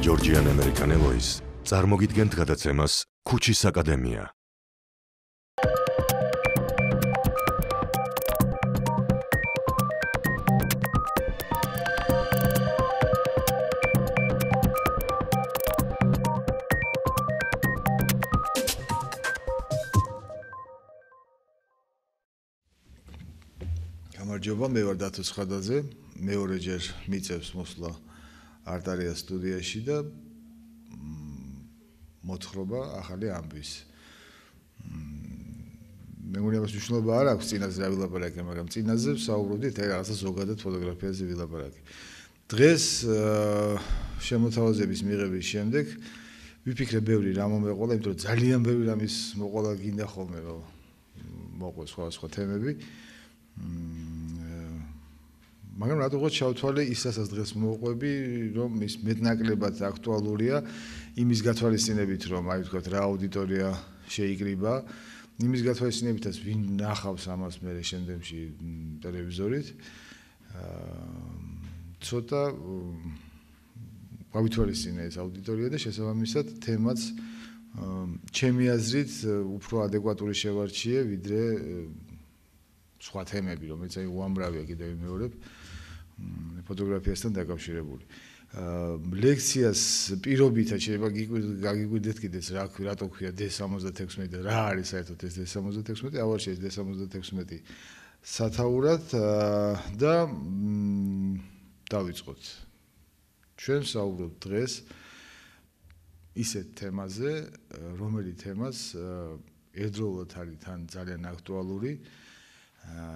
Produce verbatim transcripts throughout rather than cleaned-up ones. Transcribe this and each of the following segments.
ჯორჯიან ამერიკანელოის წარმოგიდგენთ გადაცემას ქუჩის აკადემია. გამარჯობა, მე ვარ დათო ცხადაძე, მეორეჯერ მიწევს მოსვლა არტარია სტუდიაში და მოთხრობა ახალი ამბის. მე მგონი ამას მნიშვნელობა არ აქვს წინაზე რა ვილაპარაკე, მაგრამ წინაზე ვსაუბრობდით რაღაცა ზოგადად ფოტოგრაფიაზე ვილაპარაკე. დღეს შემოთავაზების მიღების შემდეგ ვიფიქრე ბევრი რა მომეყოლა, იმიტომ რომ ძალიან ბევრი რამის მოყოლა გინდა ხოლმე რომ მოყვე სხვა სხვა თემები. მაგრამ რატოღაც ჩავთვალე ის რასაც დღეს მოყვები, რომ ის მეტნაკლებად აქტუალურია იმის გათვალისწინებით, რომ აი ვთქვათ რა აუდიტორია შეიკრიბა, იმის გათვალისწინებითაც ვინ ნახავს ამას მე შემდეგში ტელევიზორით. ცოტა გავითვალისწინე ეს აუდიტორია და შესაბამისად თემაც ჩემი აზრით უფრო ადეკვატური შევარჩიე, ვიდრე სხვა თემები, რომელიც აი უამრავია კიდევ მეორებ ფოტოგრაფიასთან დაკავშირებული. ლექციას პირობითად შეიძლება გაგიკვირდეთ კიდეც რა რატო ქვია დე სამოცდათექვსმეტი და რა არის საერთოდ ეს დე სამოცდათექვსმეტი, ავარშია ეს დე სამოცდათექვსმეტი სათაურად და დავიწყოთ. ჩვენ ვსაუბრობთ დღეს ისეთ თემაზე, რომელი თემას ერთდროულად არის თან ძალიან აქტუალური,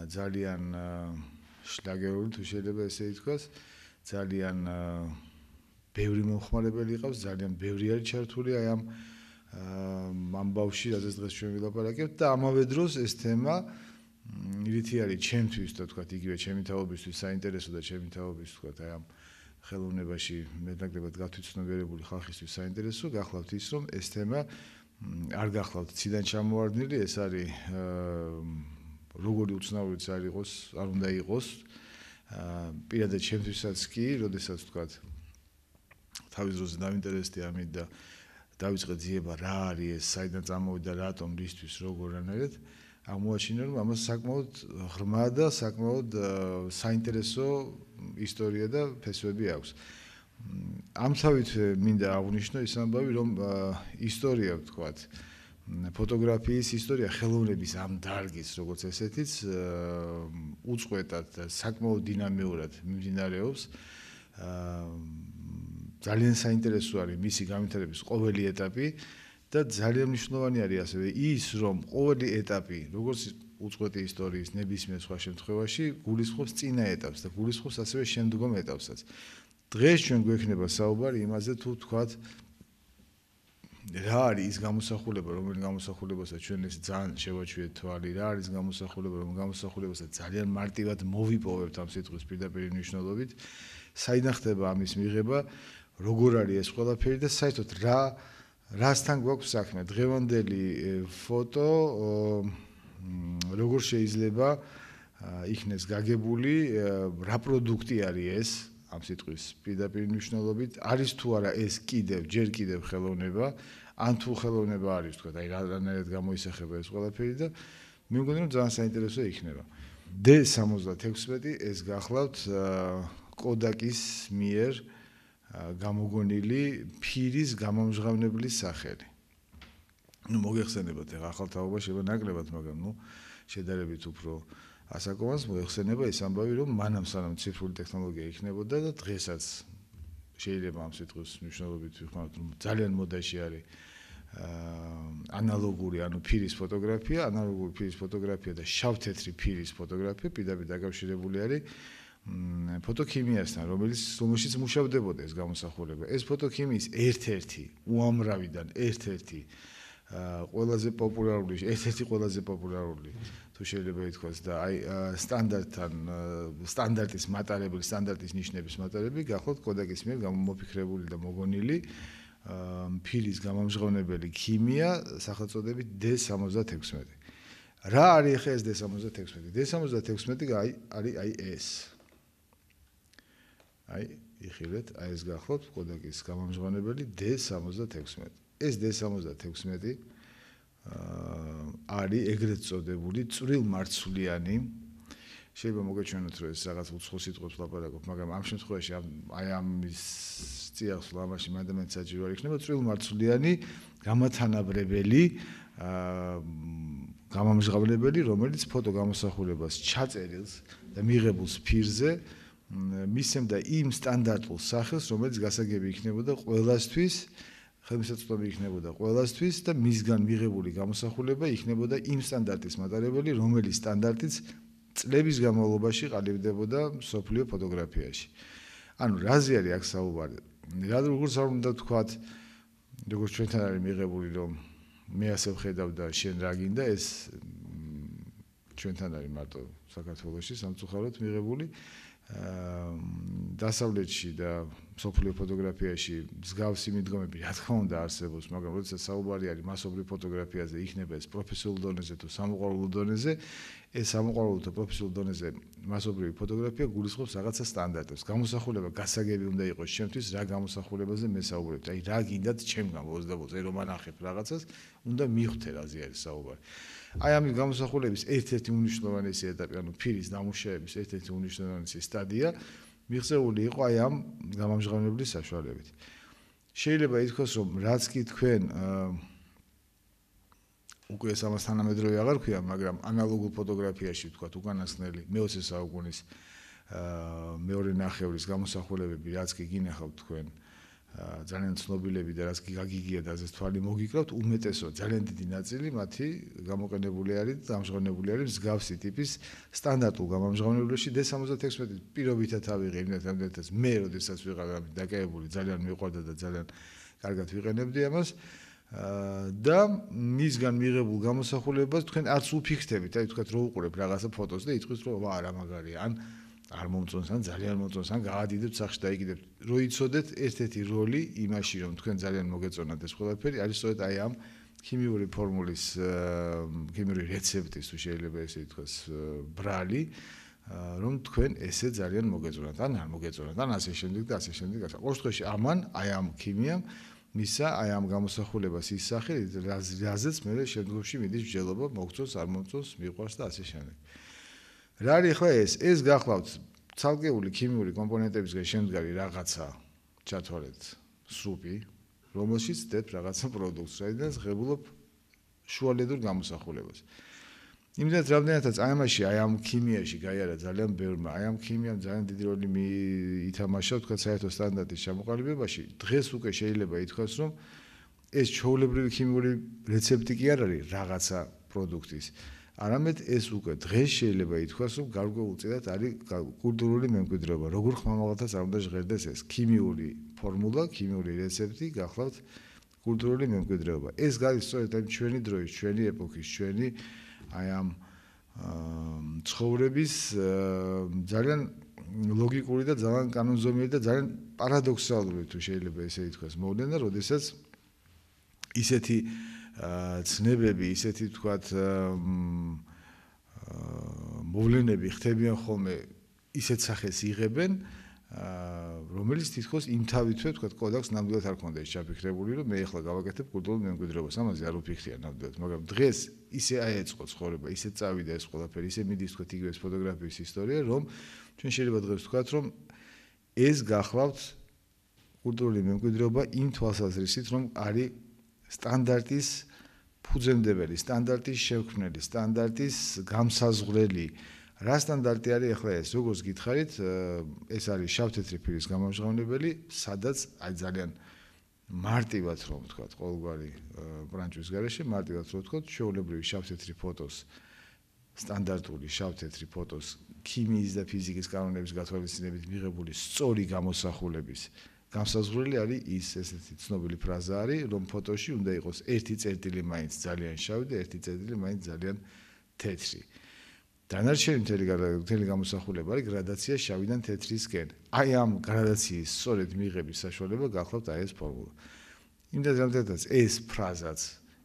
ძალიან შლაგერული თუ შეიძლება ესე ითქვას, ძალიან ბევრი მომხმარებელი ყავს, ძალიან ბევრი არის ჩართული აი ამ ამბავში, რაზეც დღეს ჩვენ ვილაპარაკებთ და ამავე დროს ეს თემა რითი არის ჩემთვის და თქვათ იგივე ჩემი თაობისთვის საინტერესო და ჩემი თაობის თქვათ აი ამ ხელოვნებაში მეტნაკლებად გათვითცნობიერებული ხალხისთვის საინტერესო, გახლავთ ის რომ ეს თემა არ გახლავთ ციდან ჩამოვარდნილი, ეს არის როგორი უცნაურიც არ იყოს, არ უნდა იყოს. პირადად ჩემთვისაც კი, როდესაც ვთქვათ, თავის დროზე დავინტერესდი ამით და დავიწყე ძიება რა არის ეს, საიდან წამოვიდა, რატომ, რისთვის, როგორ-რანაირად, აღმოაჩინე, რომ ამას საკმაოდ ღრმა და საკმაოდ საინტერესო ისტორია და ფესვები აქვს. ამთავით მინდა აღვნიშნო ის ამბავი, რომ ისტორია ვთქვათ, ფოტოგრაფიის ისტორია ხელოვნების ამ დარგის როგორც ესეთიც უწყვეტად და საკმაოდ დინამიურად მიმდინარეობს. ძალიან საინტერესო არის მისი განვითარების ყოველი ეტაპი და ძალიან მნიშვნელოვანი არის ასევე ის, რომ ყოველი ეტაპი, როგორც უწყვეტი ისტორიის ნებისმიერ სხვა შემთხვევაში, გულისხმობს წინა ეტაპს და გულისხმობს ასევე შემდგომ ეტაპსაც. დღეს ჩვენ გვექნება საუბარი იმაზე, თუ თქვათ რა არის ის გამოსახულება, რომელი გამოსახულებასაც ჩვენ ეს ძალიან შევაჩვიეთ თვალი, რა არის გამოსახულება, რომ გამოსახულებასაც ძალიან მარტივად მოვიპოვებთ ამ სიტყვის პირდაპირ მნიშვნელობით, საიდან ხდება ამის მიღება, როგორ არის ეს ყველაფერი და საერთოდ რა რასთან გვაქვს საქმე. დღევანდელი ფოტო როგორ შეიძლება იქნეს გაგებული, რა პროდუქტი არის ეს ამ სიტყვის პირდაპირ მნიშვნელობით, არის თუ არა ეს კიდევ, ჯერ კიდევ ხელოვნება, ან თუ ხელოვნება არის, თქვა, აი რანაირად გამოისახება ეს ყველაფერი და მე მგონი რომ ძალიან საინტერესო იქნება. დე სამოცდათექვსმეტი ეს გახლავთ კოდაკის მიერ გამოგონილი ფირის გამომჟღავნებლის სახელი. ნუ მოგეხსენებათ ეხლა ახალ თაობა შეიძლება ნაკლებად, მაგრამ ნუ შედარებით უფრო ასაკოვანს მოეხსენება ეს ამბავი, რომ მანამ სანამ ციფრული ტექნოლოგია იქნებოდა და დღესაც შეიძლება ამ სიტყვის მნიშვნელობით ვიხმაროთ, რომ ძალიან მოდაში არის ანალოგური, ანუ ფირის ფოტოგრაფია, ანალოგური ფირის ფოტოგრაფია და შავ-თეთრი ფირის ფოტოგრაფია პირდაპირ დაკავშირებული არის ფოტოქიმიასთან, რომელიც რომელშიც მუშავდებოდა ეს გამოსახულება. ეს ფოტოქიმიის ერთ-ერთი, უამრავიდან ერთ-ერთი ყველაზე პოპულარული, ერთ-ერთი ყველაზე პოპულარული თუ შეიძლება ითქვას და აი სტანდარტთან სტანდარტის მატარებელი, სტანდარტის ნიშნების მატარები გახლავთ კოდაკის მიერ გამოფიქრებული და მოგონილი ფირის გამომჟღავნებელი ქიმია სახელწოდებით დე სამოცდათექვსმეტი. რა არის ხე ეს დე სამოცდათექვსმეტი? დე სამოცდათექვსმეტი არის აი ეს. აი, იხილეთ, აი ეს გახლავთ კოდაკის გამომჟღავნებელი D სამოცდათექვსმეტი. ეს D სამოცდათექვსმეტი აა არის ეგრეთ წოდებული წვრილმარცვლიანი. შეიძლება მოგეჩვენოთ, რომ ეს რაღაც უცხო სიტყვებს ლაპარაკობ, მაგრამ ამ შემთხვევაში აი ამის წიაღს ლამაში მანდამენტ საჭირო არ იქნება წვრილმარცვლიანი გამათანაბრებელი აა გამომჟღავნებელი, რომელიც ფოტო გამოსახულებას ჩაწერილს და მიღებულს ფირზე მისცემდა იმ სტანდარტულ სახელს, რომელიც გასაგები იქნებოდა ყველასთვის, ხელმისაწვდომი იქნებოდა ყველასთვის და მისგან მიღებული გამოსახულება იქნებოდა იმ სტანდარტის მატარებელი, რომელიც სტანდარტიც წლების განმავლობაში ყალიბდებოდა მსოფლიო ფოტოგრაფიაში. ანუ რაზე არის აქ საუბარი? რა როგორც არ უნდა თქვათ, როგორც ჩვენთან არის მიღებული, რომ მე ასე ვხედავ და შენ რა გინდა, ეს ჩვენთან არის მარტო საქართველოში სამწუხაროდ მიღებული. დასავლეთში და მსოფლიო ფოტოგრაფიაში მსგავსი მიდგომები რა თქმა უნდა არსებობს, მაგრამ როდესაც საუბარი არის მასობრივ ფოტოგრაფიაზე, იქნება ეს პროფესიულ დონეზე თუ სამოყვარულო დონეზე, ეს სამოყვარულო თუ პროფესიულ დონეზე მასობრივი ფოტოგრაფია გულისხმობს რაღაცა სტანდარტებს. გამოსახულება გასაგები უნდა იყოს ჩემთვის, რა გამოსახულებაზე მე საუბრობ. აი რა გინდათ ჩემგან ოცდაოთხ, აი რომ ანახებ რაღაცას, უნდა მიხვდე რაზე არის საუბარი. აი ამის გამოსახულების ერთ-ერთი უნიშნულოვანესი ეტაპი, ანუ ფირის დამუშავების ერთ-ერთი უნიშნულოვანესი სტადია მიღწეული იყო აი ამ გამომჟღავნებლის საშუალებით. შეიძლება ითქვას, რომ რაც კი თქვენ უკვე ეს ამას თანამედროვე აღარ ქვია, მაგრამ ანალოგურ ფოტოგრაფიაში ვთქვათ, უკანასკნელი მეოცე საუკუნის მეორე ნახევრის გამოსახულებები, რაც კი გინახავთ თქვენ ძალიან ცნობილები და რაც კი გაგიგია და ასე თვალი მოგიკრავთ, უმეტესო ძალიან დიდი ნაწილი მათი გამოყენებული არის და ამჟღავნებული არის მსგავსი ტიპის სტანდარტულ გამომჟღავნებელში D სამოცდათექვსმეტი პირობითად ავიღე იმდენად ამდენადაც მე როდესაც ვიყავ დაკავებული ძალიან მიყვარდა და ძალიან კარგად ვიყენებდი ამას და მისგან მიღებულ გამოსახულებას თქვენ არც უფიქრთებით, აი თქვათ რო უყურებ რაღაცა ფოტოს და იტყვის რომ ვა რა მაგარია, ან არ მომწონს, ან ძალიან მომწონს, ან გაადიდებთ სახში დაიკიდებთ. რო იცოდეთ ერთ-ერთი როლი იმაში, რომ თქვენ ძალიან მოგეწონათ ეს ყველაფერი, არის სწორედ აი ამ ქიმიური ფორმულის, ქიმიური რეცეპტის თუ შეიძლება ესე ითქვას, ბრალი, რომ თქვენ ესე ძალიან მოგეწონათ, ან არ მოგეწონათ, ან ასე შემდეგ და ასე შემდეგ. ყოველ შემთხვევაში ამან აი ამ ქიმიამ მისა აი ამ გამოსახულებას ის სახე, რაზეც მე შემდგომში მიდის მსჯელობა, მოგწონს, არ მომწონს, მიყვარს და ასე შემდეგ. რა არის ახლა ეს? ეს გახლავთ ცალკეული ქიმიური კომპონენტებისგან შემდგარი რაღაცა, ჩათვალეთ, სრუპი, რომელშიც დებთ რაღაცა პროდუქტს, რაიდანაც ღებულობ შუალედურ გამოსახულებას. იმდენად რამდენადაც აი ამაში, აი ამ ქიმიაში გაიარა ძალიან ბევრმა, აი ამ ქიმიამ ძალიან დიდი როლი ითამაშა, თქვა საერთო სტანდარტის ჩამოყალიბებაში. დღეს უკვე შეიძლება ითქვას, რომ ეს ჩვეულებრივი ქიმიური რეცეპტი კი არ არის რაღაცა პროდუქტის. არამედ ეს უკვე დღეს შეიძლება ითქვას, რომ გარკვეულწილად არის კულტურული მემკვიდრეობა. როგორ ხმამაღალთაც არ უნდა ჟღერდეს ეს ქიმიური ფორმულა, ქიმიური რეცეპტი გახლავთ კულტურული მემკვიდრეობა. ეს გადის სწორედ ამ ჩვენი დროის, ჩვენი ეპოქის, ჩვენი აი ამ ცხოვრების ძალიან ლოგიკური და ძალიან კანონზომიერი და ძალიან პარადოქსალური თუ შეიძლება ესე ითქვას მოვლენა, როდესაც ისეთი ცნებები, ისეთი თქვათ მოვლენები ხდებიან ხოლმე ისეთ სახეს იღებენ, რომელიც თითქოს იმ თავითვე თქვათ კოდაკს ნამდვილად არ ქონდა ის ჩაფიქრებული, რომ მე ახლა გავაკეთებ კულტურულ მემკვიდრეობას, ამაზე არ ვფიქრია ნამდვილად, მაგრამ დღეს ისე აეწყო ცხოვრება, ისე წავიდა ეს ყველაფერი, ისე მიდის თქვათ იგივე ფოტოგრაფიის ისტორია, რომ ჩვენ შეიძლება დღეს ვთქვათ, რომ ეს გახლავთ კულტურული მემკვიდრეობა იმ თვალსაზრისით, რომ არის სტანდარტის ფუძემდებელი, სტანდარტის შექმნელი, სტანდარტის გამსაზღვრელი. რა სტანდარტი არის ახლა ეს? როგორც გითხარით, ეს არის შავ-თეთრი ფირის გამომჟღავნებელი, სადაც აი ძალიან მარტივად რომ ვთქვათ, ყოველგვარი ბრანჭვის გარეშე მარტივად რომ ვთქვათ, ჩვეულებრივი შავ-თეთრი ფოტოს, სტანდარტული შავ-თეთრი ფოტოს ქიმიის და ფიზიკის კანონების გათვალისწინებით მიღებული სწორი გამოსახულების გამსაზღვრელი არის ის ესეთი ცნობილი ფრაზა არის, რომ ფოტოში უნდა იყოს ერთი წერტილი მაინც ძალიან შავი და ერთი წერტილი მაინც ძალიან თეთრი. დანარჩენი მთელი გამოსახულება არის გრადაცია შავიდან თეთრისკენ. აი ამ გრადაციის სწორედ მიღების საშუალება გახლავთ აი ეს ფორმულა. იმდენად რამდენადაც ეს ფრაზაც,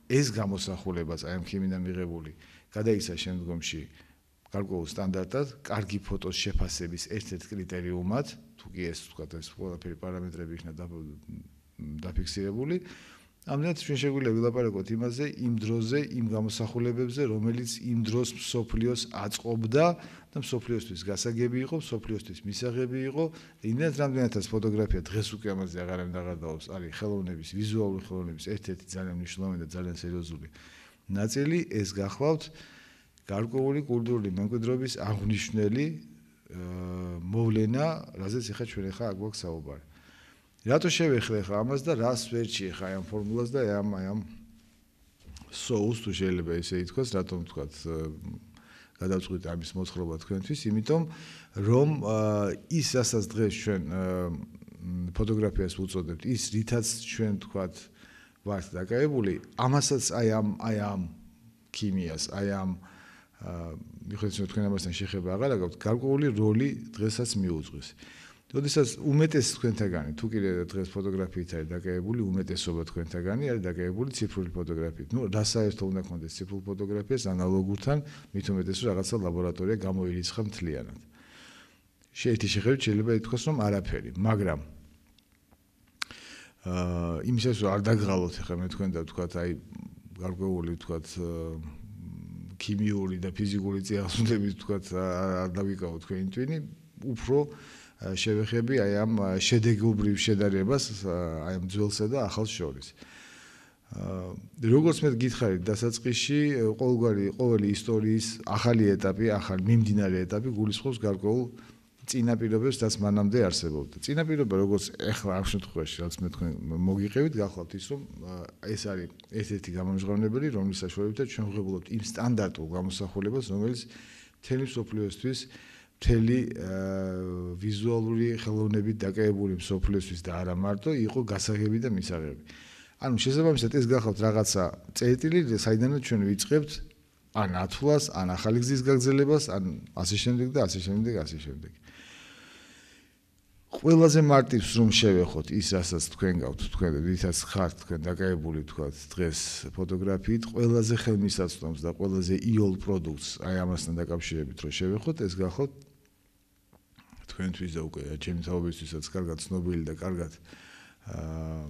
ეს გამოსახულებაც აი ამ ქიმიდან მიღებული გადაიქცა შემდგომში გარკვეულ სტანდარტად, კარგი ფოტოს შეფასების ერთ-ერთ კრიტერიუმად, თუ კი ეს თქვა ეს ყველაფერი პარამეტრები იქნა დაფიქსირებული. ამდენად ჩვენ შეგვიძლია ვილაპარაკოთ იმაზე, იმ დროზე, იმ გამოსახულებებზე, რომელიც იმ დროს მსოფლიოს აწყობდა და მსოფლიოსთვის გასაგები იყო, მსოფლიოსთვის მისაღები იყო. იმდენად რამდენადაც ფოტოგრაფია დღეს უკვე ამაზე აღარანაირ აღარდაობს, არის ხელოვნების, ვიზუალური ხელოვნების ერთ-ერთი ძალიან მნიშვნელოვანი და ძალიან სერიოზული ნაწილი, ეს გახლავთ გარკვეული კულტურული მემკვიდრეობის აღნიშნული მოვლენა, რაზეც ახლა ჩვენ ახლა აქ გვაქვს საუბარი. რატო შევეხლე ხა ამას და რას ვერჩი ხა ამ ფორმულას და ამ ამ соус თუ შეიძლება ესე ითქვას, რატომ თქვათ გადავწყვიტე ამის მოთხრობა თქვენთვის, იმიტომ რომ ის რასაც დღეს ჩვენ ფოტოგრაფიას ვუწოდებთ, ის რითაც ჩვენ თქვათ ვართ დაკავებული, ამასაც აი ამ აი ამ ქიმიას, აი ამ მიხედვით თქვენ ამასთან შეხება აღარ აქვს, გარკვეული როლი დღესაც მიუძღვის. როდესაც უმეტეს თქვენთაგანი, თუ კიდე დღეს ფოტოგრაფიით არის დაკავებული, უმეტესობა თქვენთაგანი არის დაკავებული ციფრული ფოტოგრაფიით. ნუ რა საერთო უნდა გქონდეს ციფრულ ფოტოგრაფიას ანალოგურთან, მით უმეტეს რომ რაღაცა ლაბორატორია გამოირიცხა მთლიანად. შეეთი შეხედვით შეიძლება ითქვას, რომ არაფერი, მაგრამ აა იმისათვის რომ არ დაგღალოთ ახლა მე თქვენ და ვთქვათ, აი გარკვეული ვთქვათ ქიმიური და ფიზიკური წიაღისეულებით ვთქვათ არ დავიკავოთ თქვენი ტვინი, უფრო შევეხები აი ამ შედეგობრივ შედარებას აი ამ ძველსა და ახალს შორის. როგორც მე გითხარით დასაწყისში, ყოველგვარი ყოველი ისტორიის ახალი ეტაპი, ახალი მიმდინარე ეტაპი გულისხმობს გარკვეულ წინაპირობებს, რაც მანამდე არსებობდა. წინაპირობა როგორც ეხლა ამ შემთხვევაში, რაც მე თქვენ მოგიყევით, გახლავთ ის, რომ ეს არის ერთ-ერთი გამომჟღავნებელი, რომლის საშუალებითაც ჩვენ ვღებულობთ იმ სტანდარტულ გამოსახულებას, რომელიც მთელი მსოფლიოსთვის მთელი ვიზუალური ხელოვნებით დაკავებული მსოფლიოსთვის და არა მარტო იყო გასაღები და მისაღები. ანუ შესაბამისად ეს გახლავთ რაღაცა წერტილი, საიდანაც ჩვენ ვიწყებთ ან ათვლას, ან ახალი გზის გაგრძელებას, ან ასე შემდეგ და ასე შემდეგ, ასე შემდეგ. ყველაზე მარტივს რომ შევეხოთ ის, რასაც თქვენ გავთ, თქვენ რითაც ხართ თქვენ დაკავებული თქვათ დღეს ფოტოგრაფიით, ყველაზე ხელმისაწვდომს და ყველაზე იოლ პროდუქტს აი ამასთან დაკავშირებით რომ შევეხოთ, ეს გახლავთ თქვენთვის და უკვე ჩემი თაობისთვისაც კარგად ცნობილი და კარგად აა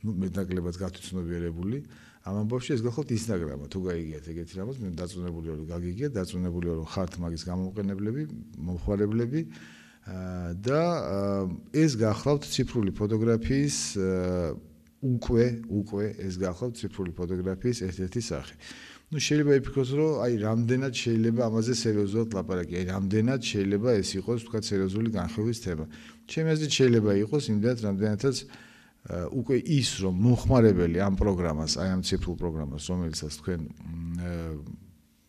ნუ მეტნაკლებად გათვითცნობიერებული ამ ამბავში ეს გახლავთ ინსტაგრამა, თუ გაიგიათ ეგეთი რამაც, მე დაწუნებული ვარ რომ გაგიგიათ, დაწუნებული ვარ რომ ხართ მაგის გამომყენებლები, მომხმარებლები და ეს გახლავთ ციფრული ფოტოგრაფიის უკვე უკვე ეს გახლავთ ციფრული ფოტოგრაფიის ერთ-ერთი სახე. ნუ შეიძლება იფიქროთ რომ აი რამდენად შეიძლება ამაზე სერიოზულად ლაპარაკი, აი რამდენად შეიძლება ეს იყოს თქვა სერიოზული განხილვის თემა. ჩემი აზრით შეიძლება იყოს იმდენად რამდენადაც უკვე ის რომ მომხმარებელი ამ პროგრამას, აი ამ ციფრულ პროგრამას, რომელიცაც თქვენ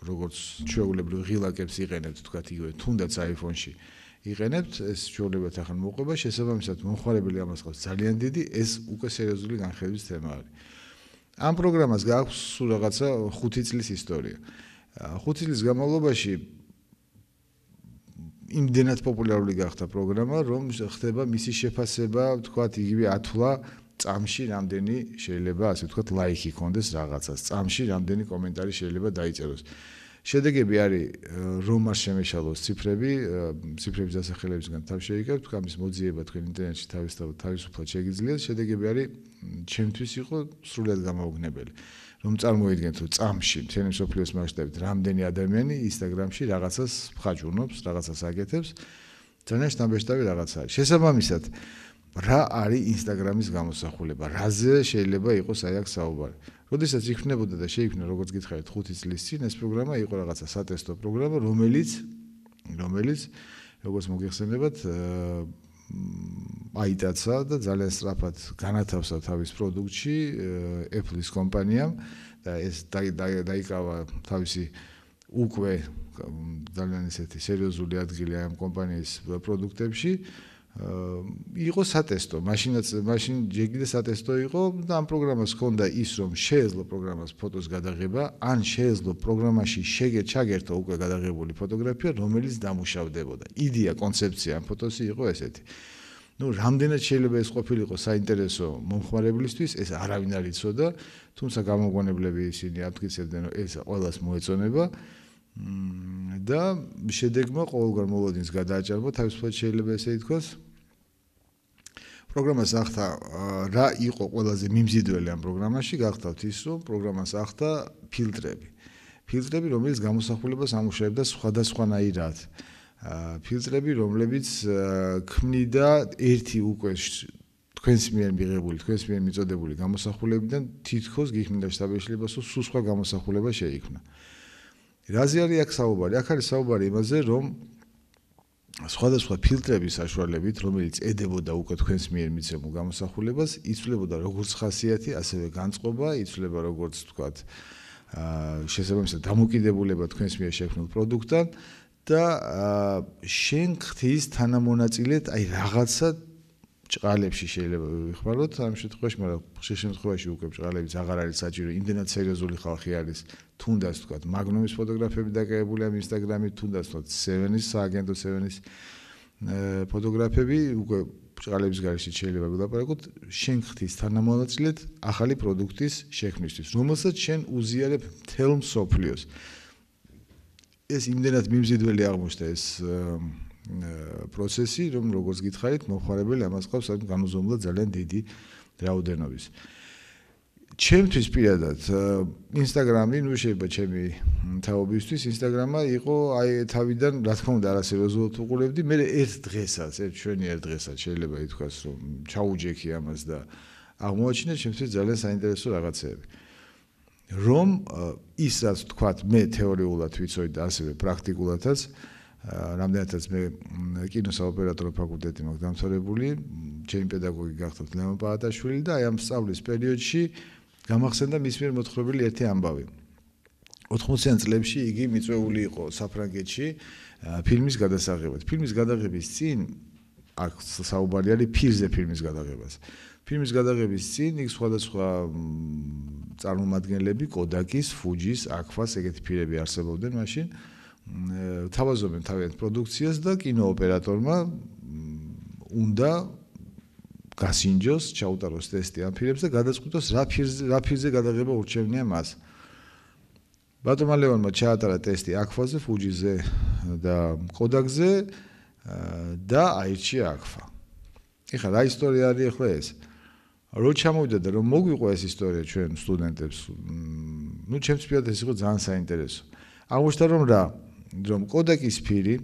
როგორც ჩვეულებრივ ღილაკებს იყენებთ, თქვა იგივე თუნდაც iPhone-ში იყენებთ, ეს ჩვეულებრივ ახლა მოყვება, შესაბამისად მომხმარებელი ამას ყავს ძალიან დიდი, ეს უკვე სერიოზული განხილვის თემა არის. ამ პროგრამას გააქვს სულ რაღაცა ხუთი წლის ისტორია. ხუთი წლის განმავლობაში იმდენად პოპულარული გახდა პროგრამა, რომ ხდება მისი შეფასება, თქვათ, იგივე ათვლა წამში რამდენი შეიძლება, ასე ვთქვათ, ლაიქი ქონდეს რაღაცას, წამში რამდენი კომენტარი შეიძლება დაიწეროს. შედეგები არის, რომ არ შემეშალოს ციფრები, ციფრების დასახელებისგან თავ შეიკავთ, თქვა ამის მოძიება თქვენ ინტერნეტში თავისუფლად შეგიძლიათ, შედეგები არის ჩემთვის იყო სრულად გამაოგნებელი. რომ წარმოიდგენთ, რომ წამში მთელი მსოფლიოს მასშტაბით რამდენი ადამიანი Instagram-ში რაღაცას მხაჭუნობს, რაღაცას აკეთებს, ძალიან შთამბეჭდავი რაღაცა არის. შესაბამისად, რა არის Instagram-ის გამოსახულება, რაზე შეიძლება იყოს აი აქ საუბარი. როდესაც იქნებოდა და შეიქმნა, როგორც გითხარით, ხუთი წლის წინ ეს პროგრამა იყო რაღაცა სატესტო პროგრამა, რომელიც რომელიც როგორც მოგეხსენებათ, აიტაცა და ძალიან სწრაფად განათავსა თავის პროდუქტში Apple-ის კომპანიამ და ეს დაიკავა თავისი უკვე ძალიან ესეთი სერიოზული ადგილი ამ კომპანიის პროდუქტებში. იყო სატესტო, მაშინაც მაშინ ჯერ სატესტო იყო და ამ პროგრამას ჰქონდა ის, რომ შეეძლო პროგრამას ფოტოს გადაღება, ან შეეძლო პროგრამაში ჩაგერთო უკვე გადაღებული ფოტოგრაფია, რომელიც დამუშავდებოდა. იდეა, კონცეფცია ამ ფოტოსი იყო ესეთი. ნუ რამდენად შეიძლება ეს ყოფილიყო საინტერესო მომხმარებლისთვის, ეს არავინ არ იცოდა, თუმცა გამოგონებლები ისინი ამტკიცებდნენ, რომ ეს ყველას მოეწონება და შედეგმა ყოველგვარ მოლოდინს გადააჭარბა, თავისუფლად შეიძლება ესე ითქვას. პროგრამას ახდა რა იყო ყველაზე მიმზიდველი ამ პროგრამაში, გახდათ ის, რომ პროგრამას ახდა ფილტრები. ფილტრები, რომელიც გამოსახულებას ამუშავებდა სხვადასხვანაირად. ფილტრები, რომლებიც ქმნიდა ერთი უკვე თქვენს მიერ მიღებული, თქვენს მიერ მიწოდებული გამოსახულებიდან თითქოს გიქმნიდა შთაბეჭდილებას, რომ სულ სხვა გამოსახულება შეიქმნა. რაზე არის აქ საუბარი? აქ არის საუბარი იმაზე, რომ სხვადასხვა ფილტრების საშუალებით, რომელიც ედებოდა უკვე თქვენს მიერ მიცემულ გამოსახულებას, იცვლებოდა როგორც ხასიათი, ასევე განწყობა, იცვლება როგორც ვთქვათ, შესაბამისად დამოკიდებულება თქვენს მიერ შექმნილ პროდუქტთან და შენ ხთის თანამონაწილედ აი რაღაცა ჭყალებში შეიძლება ვიხმაროთ ამ შემთხვევაში, მაგრამ ხშირ შემთხვევაში უკვე ჭყალებიც აღარ არის საჭირო, იმდენად სერიოზული ხალხი არის, თუნდაც ვთქვათ, მაგნუმის ფოტოგრაფები დაკავებული ამ ინსტაგრამით, თუნდაც ვთქვათ, სევენის, სააგენტო სევენის ფოტოგრაფები, უკვე ჭყალების გარეშე შეიძლება ვილაპარაკოთ, შენ ხთის თანამონაწილედ ახალი პროდუქტის შექმნისთვის, რომელსაც შენ უზიარებ მთელ მსოფლიოს. ეს იმდენად მიმზიდველი აღმოჩნდა ეს პროცესი, რომ როგორც გითხარით, მომხმარებელი ამას ყავს განუზომლად ძალიან დიდი რაოდენობის. ჩემთვის პირადად ინსტაგრამი, ნუ შეიძლება ჩემი თაობისთვის ინსტაგრამა იყო აი თავიდან, რა თქმა უნდა, არასერიოზულად უყურებდი, მე ერთ დღესაც, ერთ ჩვენიერ დღესაც შეიძლება ითქვას, რომ ჩაუჯექი ამას და აღმოაჩინე ჩემთვის ძალიან საინტერესო რაღაცეები. რომ ის რაც თქვათ, მე თეორიულად ვიცოდი და ასევე პრაქტიკულადაც რამდენადაც მე კინოსაოპერატორო ფაკულტეტი მაქვს დამთავრებული, ჩემი პედაგოგი გახდათ ლევან პაატაშვილი და აი ამ სწავლის პერიოდში გამახსენდა მის მიერ მოთხრობილი ერთი ამბავი. ოთხმოციან წლებში იგი მიწვეული იყო საფრანგეთში ფილმის გადასაღებად. ფილმის გადაღების წინ აქ საუბარი არის ფირზე ფილმის გადაღებას. ფილმის გადაღების წინ იქ სხვადასხვა წარმომადგენლები კოდაკის, ფუჯის, აკფას ეგეთი ფირები არსებობდნენ მაშინ. თავაზობენ თავიანთ პროდუქციას და კინოოპერატორმა უნდა გასინჯოს, ჩაუტაროს ტესტი ამ ფილმებს და გადაწყვიტოს რა ფილმზე რა ფილმზე გადაღება ურჩევნია მას. ბატონმა ლევანმა ჩაატარა ტესტი აკფაზე, ფუჯიზე და კოდაკზე და აირჩია აკფა. ეხლა რა ისტორია არის ახლა ეს? რო ჩამოვიდა და რომ მოგვიყვა ეს ისტორია ჩვენ სტუდენტებს, ნუ ჩემს პირადად ეს იყო ძალიან საინტერესო. აღმოჩნდა რომ რა რომ კოდაკის ფირი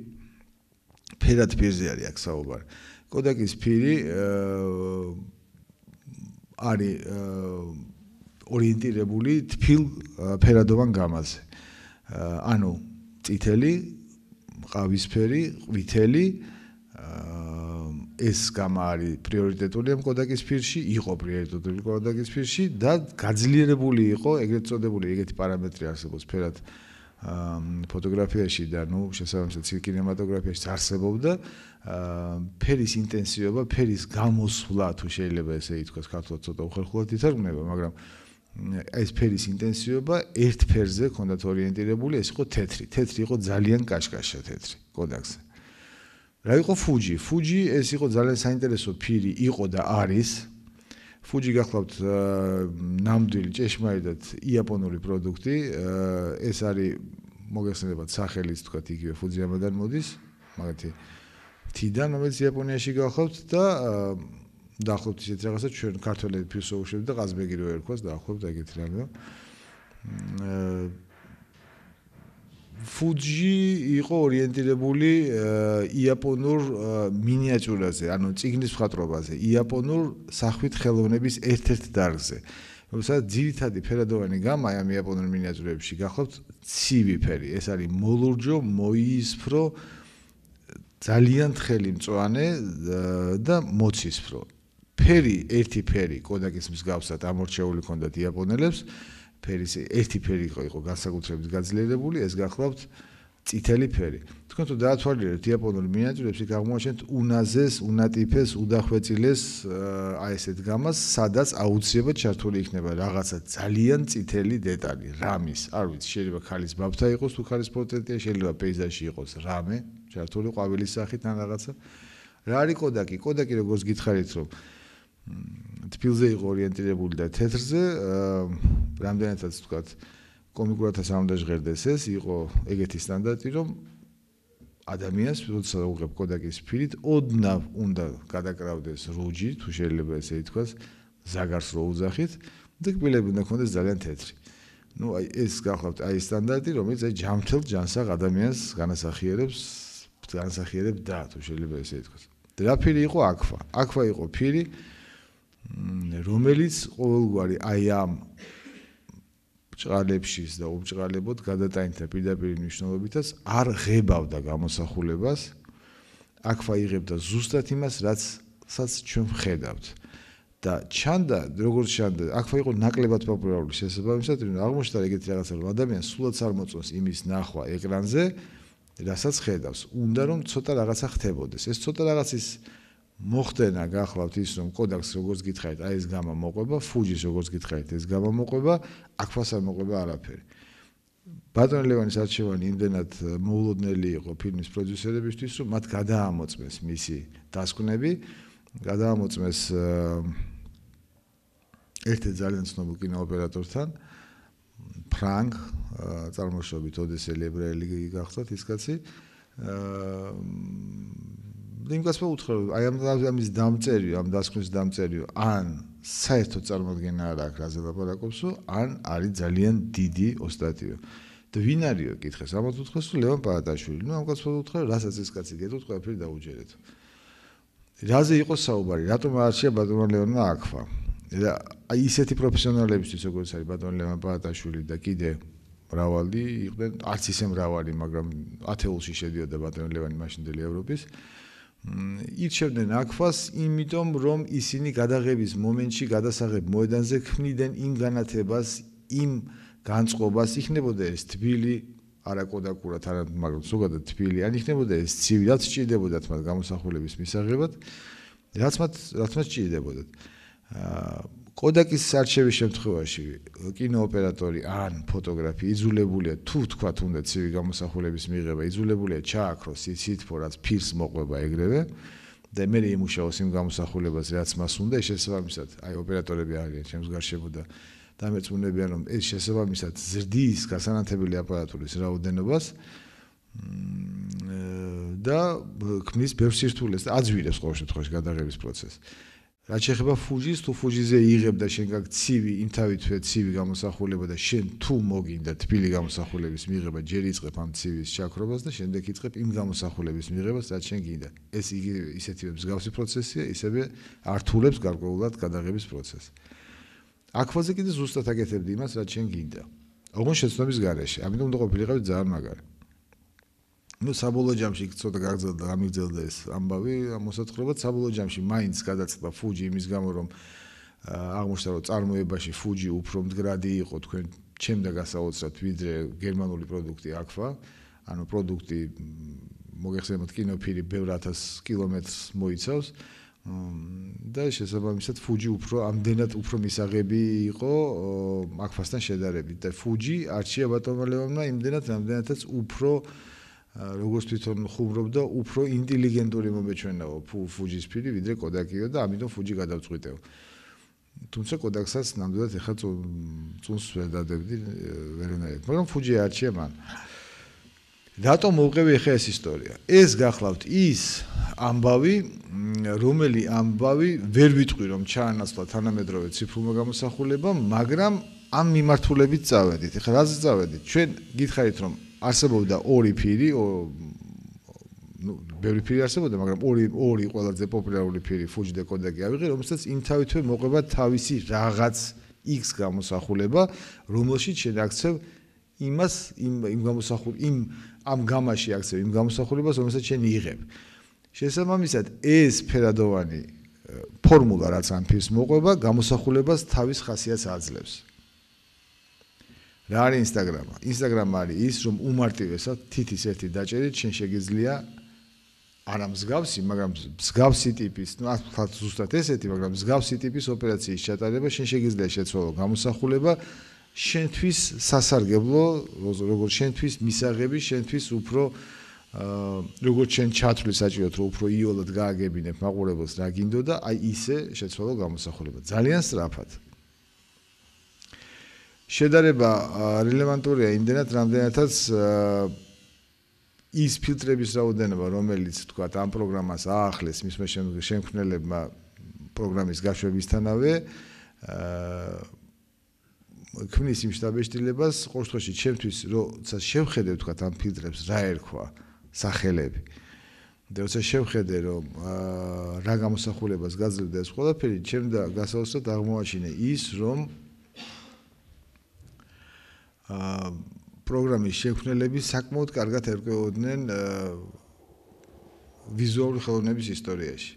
ფერად ფირზე არის აქ საუბარი. კოდაკის ფირი არის ორიენტირებული თბილ ფერადოვან გამაზე. ანუ წითელი, ყავისფერი, ყვითელი ეს გამა არის პრიორიტეტული ამ კოდაკის ფირში, იყო პრიორიტეტული კოდაკის ფირში და გაძლიერებული იყო ეგრეთ წოდებული ეგეთი პარამეტრი არსებობს ფერად ფოტოგრაფიაში და ნუ შესაბამისად კინემატოგრაფიაში არსებობდა ფერის ინტენსივობა, ფერის გამოსვლა თუ შეიძლება ესე ითქვას, ქართულად ცოტა უხერხულად ითარგმნება, მაგრამ ეს ფერის ინტენსივობა ერთ ფერზე ჰქონდათ ორიენტირებული, ეს იყო თეთრი. თეთრი იყო ძალიან კაშკაშა თეთრი კოდაკზე. რა იყო ფუჯი? ფუჯი ეს იყო ძალიან საინტერესო ფირი, იყო და არის. ფუჯი გახლავთ ნამდვილი ჭეშმარიტად იაპონური პროდუქტი. ეს არის მოგეხსენებათ სახელიც თქვათ იგივე ფუძიამადან მოდის, მაგათი თიდან, რომელიც იაპონიაში გახლავთ და დაახლოებით ისეთ რაღაცა ჩვენ ქართველები ფირსო უშვებთ და ყაზბეგი რო ერქვას დაახლოებით ეგეთი რამეა. ფუჯი იყო ორიენტირებული იაპონურ მინიატიურაზე, ანუ წიგნის მხატვრობაზე, იაპონურ სახვით ხელოვნების ერთ-ერთ დარგზე. რომელსაც ძირითადი ფერადოვანი გამა ამ იაპონურ მინიატიურებში გახლავთ ცივი ფერი. ეს არის მოლურჯო, მოიისფრო, ძალიან თხელი მწვანე და მოცისფრო. ფერი, ერთი ფერი კოდაკის მსგავსად ამორჩეული ჰქონდათ იაპონელებს. ფერის ერთი ფერი იყო განსაკუთრებით გაძლიერებული, ეს გახლავთ წითელი ფერი. თქვენ თუ დაათვალიერებთ იაპონურ მინიატიურებს, იქ აღმოაჩენთ უნაზეს, უნატიფეს, უდახვეწილეს აი ესეთ გამას, სადაც აუცილებლად ჩართული იქნება რაღაცა ძალიან წითელი დეტალი, რამის, არ ვიცი, შეიძლება ქალის ბაბთა იყოს თუ ქალის პორტრეტია, შეიძლება პეიზაჟში იყოს რამე, ჩართული ყვავილის სახით ან რაღაცა. რა არის კოდაკი? კოდაკი როგორც გითხარით, რომ თბილზე იყო ორიენტირებული და თეთრზე, რამდენადაც ვთქვათ, კომიკურათაც არ უნდა ჟღერდეს ეს, იყო ეგეთი სტანდარტი, რომ ადამიანს, როცა უღებ კოდაკის ფირით, ოდნავ უნდა გადაკრავდეს რუჯი, თუ შეიძლება ესე ითქვას, ზაგარს რო უძახით, და კბილები უნდა ქონდეს ძალიან თეთრი. ნუ აი ეს გახლავთ აი სტანდარტი, რომელიც აი ჯამთელ ჯანსაღ ადამიანს განასახიერებს, განასახიერებდა, თუ შეიძლება ესე ითქვას. და რა ფირი იყო აქვა? აქვა იყო ფირი, რომელიც ყოველგვარი აი ამ ბრჭყალებშიც და უბჭყალებოდ გადატანითა პირდაპირ მნიშვნელობითაც არ ღებავდა გამოსახულებას. აქვა იღებდა ზუსტად იმას, რაცაც ჩვენ ვხედავთ. და ჩანდა, როგორც ჩანდა, აქვა იყო ნაკლებად პოპულარული შესაბამისად, რომ აღმოჩნდა ეგეთი რაღაცა, რომ ადამიანს სულაც არ მოწონს იმის ნახვა ეკრანზე, რასაც ხედავს. უნდა რომ ცოტა რაღაცა ხდებოდეს. ეს ცოტა რაღაცის მოხდენა გახლავთ ის, რომ კოდაკს როგორც გითხარით, აი ეს გამა მოყვება, ფუჯის როგორც გითხარით, ეს გამა მოყვება, აქვას არ მოყვება არაფერი. ბატონ ლევანის არჩევანი იმდენად მოულოდნელი იყო ფილმის პროდიუსერებისთვის, რომ მათ გადაამოწმეს მისი დასკვნები, გადაამოწმეს ერთ-ერთ ძალიან ცნობილ კინოოპერატორთან, ფრანგ, წარმოშობით ოდესელი ებრაელი გახსოვთ ის კაცი. იმ კაცმა უთხრა, აი ამ ამის დამწერი, ამ დასკვნის დამწერი, ან საერთოდ წარმოდგენა არ აქვს, რაზე ლაპარაკობსო, ან არის ძალიან დიდი ოსტატიო. და ვინ არისო კითხეს, ამათ უთხრეს, რომ ლევან პაატაშვილი. ნუ ამ კაცმა უთხრა, რასაც ეს კაცი გეტყვით, ყველაფერი დაუჯერეთ. რაზე იყო საუბარი? რატომ არჩია ბატონმა ლევანმა აქვა? და აი ისეთი პროფესიონალებისთვის, როგორც არის ბატონ ლევან პაატაშვილი და კიდე მრავალი იყვნენ, არც ისე მრავალი, მაგრამ ათეულში შედიოდა ბატონ ლევანი მაშინდელი ევროპის. ირჩევდნენ აქვას, იმიტომ რომ ისინი გადაღების მომენტში გადასაღებ მოედანზე ქმნიდნენ იმ განათებას, იმ განწყობას, იქნებოდა ეს თბილი, არა კოდაკურად, არა, მაგრამ ზოგადად თბილი, ან იქნებოდა ეს ცივი, რაც სჭირდებოდათ მათ გამოსახულების მისაღებად, რაც მათ რაც მათ სჭირდებოდათ. კოდაკის არჩევის შემთხვევაში კინოოპერატორი ან ფოტოგრაფი იძულებულია თუ თქვათ უნდა ცივი გამოსახულების მიღება, იძულებულია ჩააქროს ის სითბო, რაც ფირს მოყვება ეგრევე და მე იმუშაოს იმ გამოსახულებას, რაც მას უნდა, შესაბამისად, აი ოპერატორები არიან ჩემს გარშემო და დამეწმუნებიან, რომ ეს შესაბამისად ზრდის გასანათებელი აპარატურის რაოდენობას და ქმნის ბევრ სირთულეს და აძვირებს ყოველ შემთხვევაში გადაღების პროცესს. რაც შეეხება ფუჯის, თუ ფუჯიზე იღებდა შენ გაგ ცივი, იმთავითვე ცივი გამოსახულება და შენ თუ მოგინდა თბილი გამოსახულების მიღება, ჯერ იწყებ ამცივის ჩაქრობას და შემდეგ იწყებ იმ გამოსახულების მიღებას, რაც შენ გინდა. ეს იგი ისეთი მსგავსი პროცესია, ისევე ართულებს გარკვეულად გადაღების პროცესს. აქვაზე კიდე ზუსტად აკეთებდი იმას, რაც შენ გინდა. ოღონდ შეცნობის გარეშე. ამიტომ უნდა ყოფილიყავი ძალიან მაგარი. ნუ საბოლოო ჯამში ცოტა გაგრძელდა, გამიგრძელდა ეს ამბავი, მოსათხრობად საბოლოო ჯამში მაინც გადაწყდა ფუჯი იმის გამო, რომ აღმოჩნდა, რომ წარმოებაში ფუჯი უფრო მდგრადი იყო თქვენ ჩემდა გასაოცრად, ვიდრე გერმანული პროდუქტი აქვა. ანუ პროდუქტი მოგეხსენებათ კინოფირი ბევრ ათას კილომეტრს მოიცავს. და შესაბამისად ფუჯი უფრო ამდენად უფრო მისაღები იყო აქვასთან შედარებით და ფუჯი არჩია ბატონმა ლევანმა იმდენად რამდენადაც უფრო როგორც თვითონ ხუმრობდა, უფრო ინტელიგენტური მომეჩვენაო ფუჯის ფირი, ვიდრე კოდაკიო და ამიტომ ფუჯი გადავწყვიტეო. თუმცა კოდაკსაც ნამდვილად ეხლა წუნს ვერ დადებდი ვერანაირად, მაგრამ ფუჯი არჩია მან. რატომ მოვყევი ახლა ეს ისტორია? ეს გახლავთ ის ამბავი, რომელი ამბავი ვერ ვიტყვი რომ ჩაანაცვლა თანამედროვე ციფრულმა გამოსახულებამ, მაგრამ ამ მიმართულებით წავედით. ახლა რაზე წავედით? ჩვენ გითხარით რომ არსებობდა ორი ფირი, ნუ ბევრი ფირი არსებობდა, მაგრამ ორი ორი ყველაზე პოპულარული ფირი ფუჯი და კოდაკი ავიღე, რომელსაც იმთავითვე მოყვება თავისი რაღაც X გამოსახულება, რომელშიც შენ აქცევ იმას იმ იმ გამოსახულ იმ ამ გამაში აქცევ იმ გამოსახულებას, რომელსაც შენ იღებ. შესაბამისად, ეს ფერადოვანი ფორმულა, რაც ამ ფირს მოყვება, გამოსახულებას თავის ხასიათს აძლევს. რა არის ინსტაგრამა? ინსტაგრამა არის ის, რომ უმარტივესად თითის ერთი დაჭერით შენ შეგიძლია არა მსგავსი, მაგრამ მსგავსი ტიპის, ну, ახლა ზუსტად ესეთი, მაგრამ მსგავსი ტიპის ოპერაციის ჩატარება შენ შეგიძლია შეცვალო გამოსახულება შენთვის სასარგებლო, როგორც შენთვის მისაღები, შენთვის უფრო როგორც შენ ჩათვლი საჭიროდ, რომ უფრო იოლად გააგებინებ მაყურებელს რა გინდოდა, აი ისე შეცვალო გამოსახულება. ძალიან სწრაფად. შედარება რელევანტურია იმდენად, რამდენადაც ის ფილტრების რაოდენობა, რომელიც თქვა ამ პროგრამას აახლეს მისმა შემქმნელებმა პროგრამის გაშვებისთანავე, ქმნის იმ შთაბეჭდილებას, ყოველ შემთხვევაში ჩემთვის, როცა შევხედე თქვა ამ ფილტრებს რა ერქვა სახელები. და როცა შევხედე, რომ რა გამოსახულებას გაძლევდა ეს ყველაფერი, ჩემ და გასაოცრად აღმოაჩინე ის, რომ პროგრამის შემქმნელები საკმაოდ კარგად ერკვეოდნენ ვიზუალური ხელოვნების ისტორიაში.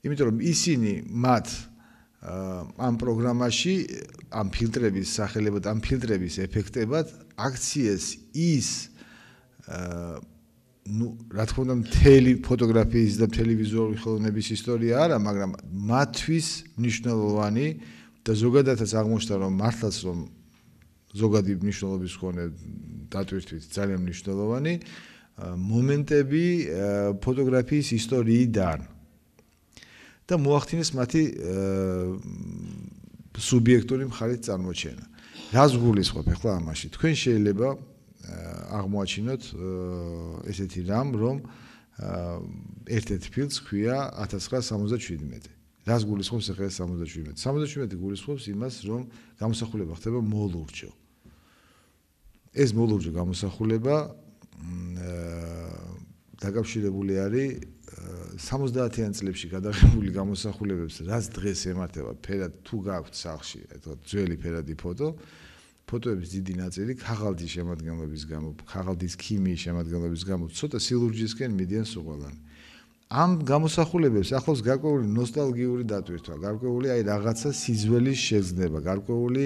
იმიტომ რომ ისინი მათ ამ პროგრამაში ამ ფილტრების სახელებად, ამ ფილტრების ეფექტებად აქციეს ის ну, რა თქმა უნდა, მთელი ფოტოგრაფიის და მთელი ვიზუალური ხელოვნების ისტორია არა, მაგრამ მათთვის მნიშვნელოვანი და ზოგადადაც აღმოჩნდა, რომ მართლაც რომ ზოგადი მნიშვნელობის მქონე დატვირთვით ძალიან მნიშვნელოვანი მომენტები ფოტოგრაფიის ისტორიიდან და მოახდინეს მათი სუბიექტური მხარით წარმოჩენა. რას გულისხმობ ახლა ამაში? თქვენ შეიძლება აღმოაჩინოთ ესეთი რამ, რომ ერთ-ერთი ფილმს ქვია ათას ცხრაასი სამოცდაშვიდმეტი. რას გულისხმობს ახლა სამოცდაშვიდმეტი? სამოცდაშვიდმეტი გულისხმობს იმას, რომ გამოსახულება ხდება მოლურჯო. ეს მოლურჯო გამოსახულება დაკავშირებული არის სამოცდაათიან წლებში გადაღებული გამოსახულებებს, რაც დღეს ემართება ფერად თუ გაქვთ სახლში, ეთქოთ ძველი ფერადი ფოტო, ფოტოების დიდი ნაწილი ქაღალდის შემადგენლობის გამო, ქაღალდის ქიმიის შემადგენლობის გამო, ცოტა სილურჯისკენ მიდიან სუყალანი. ამ გამოსახულებებს ახლავს გარკვეული ნოსტალგიური დატვირთვა, გარკვეული აი რაღაცა სიძველის შეგრძნება, გარკვეული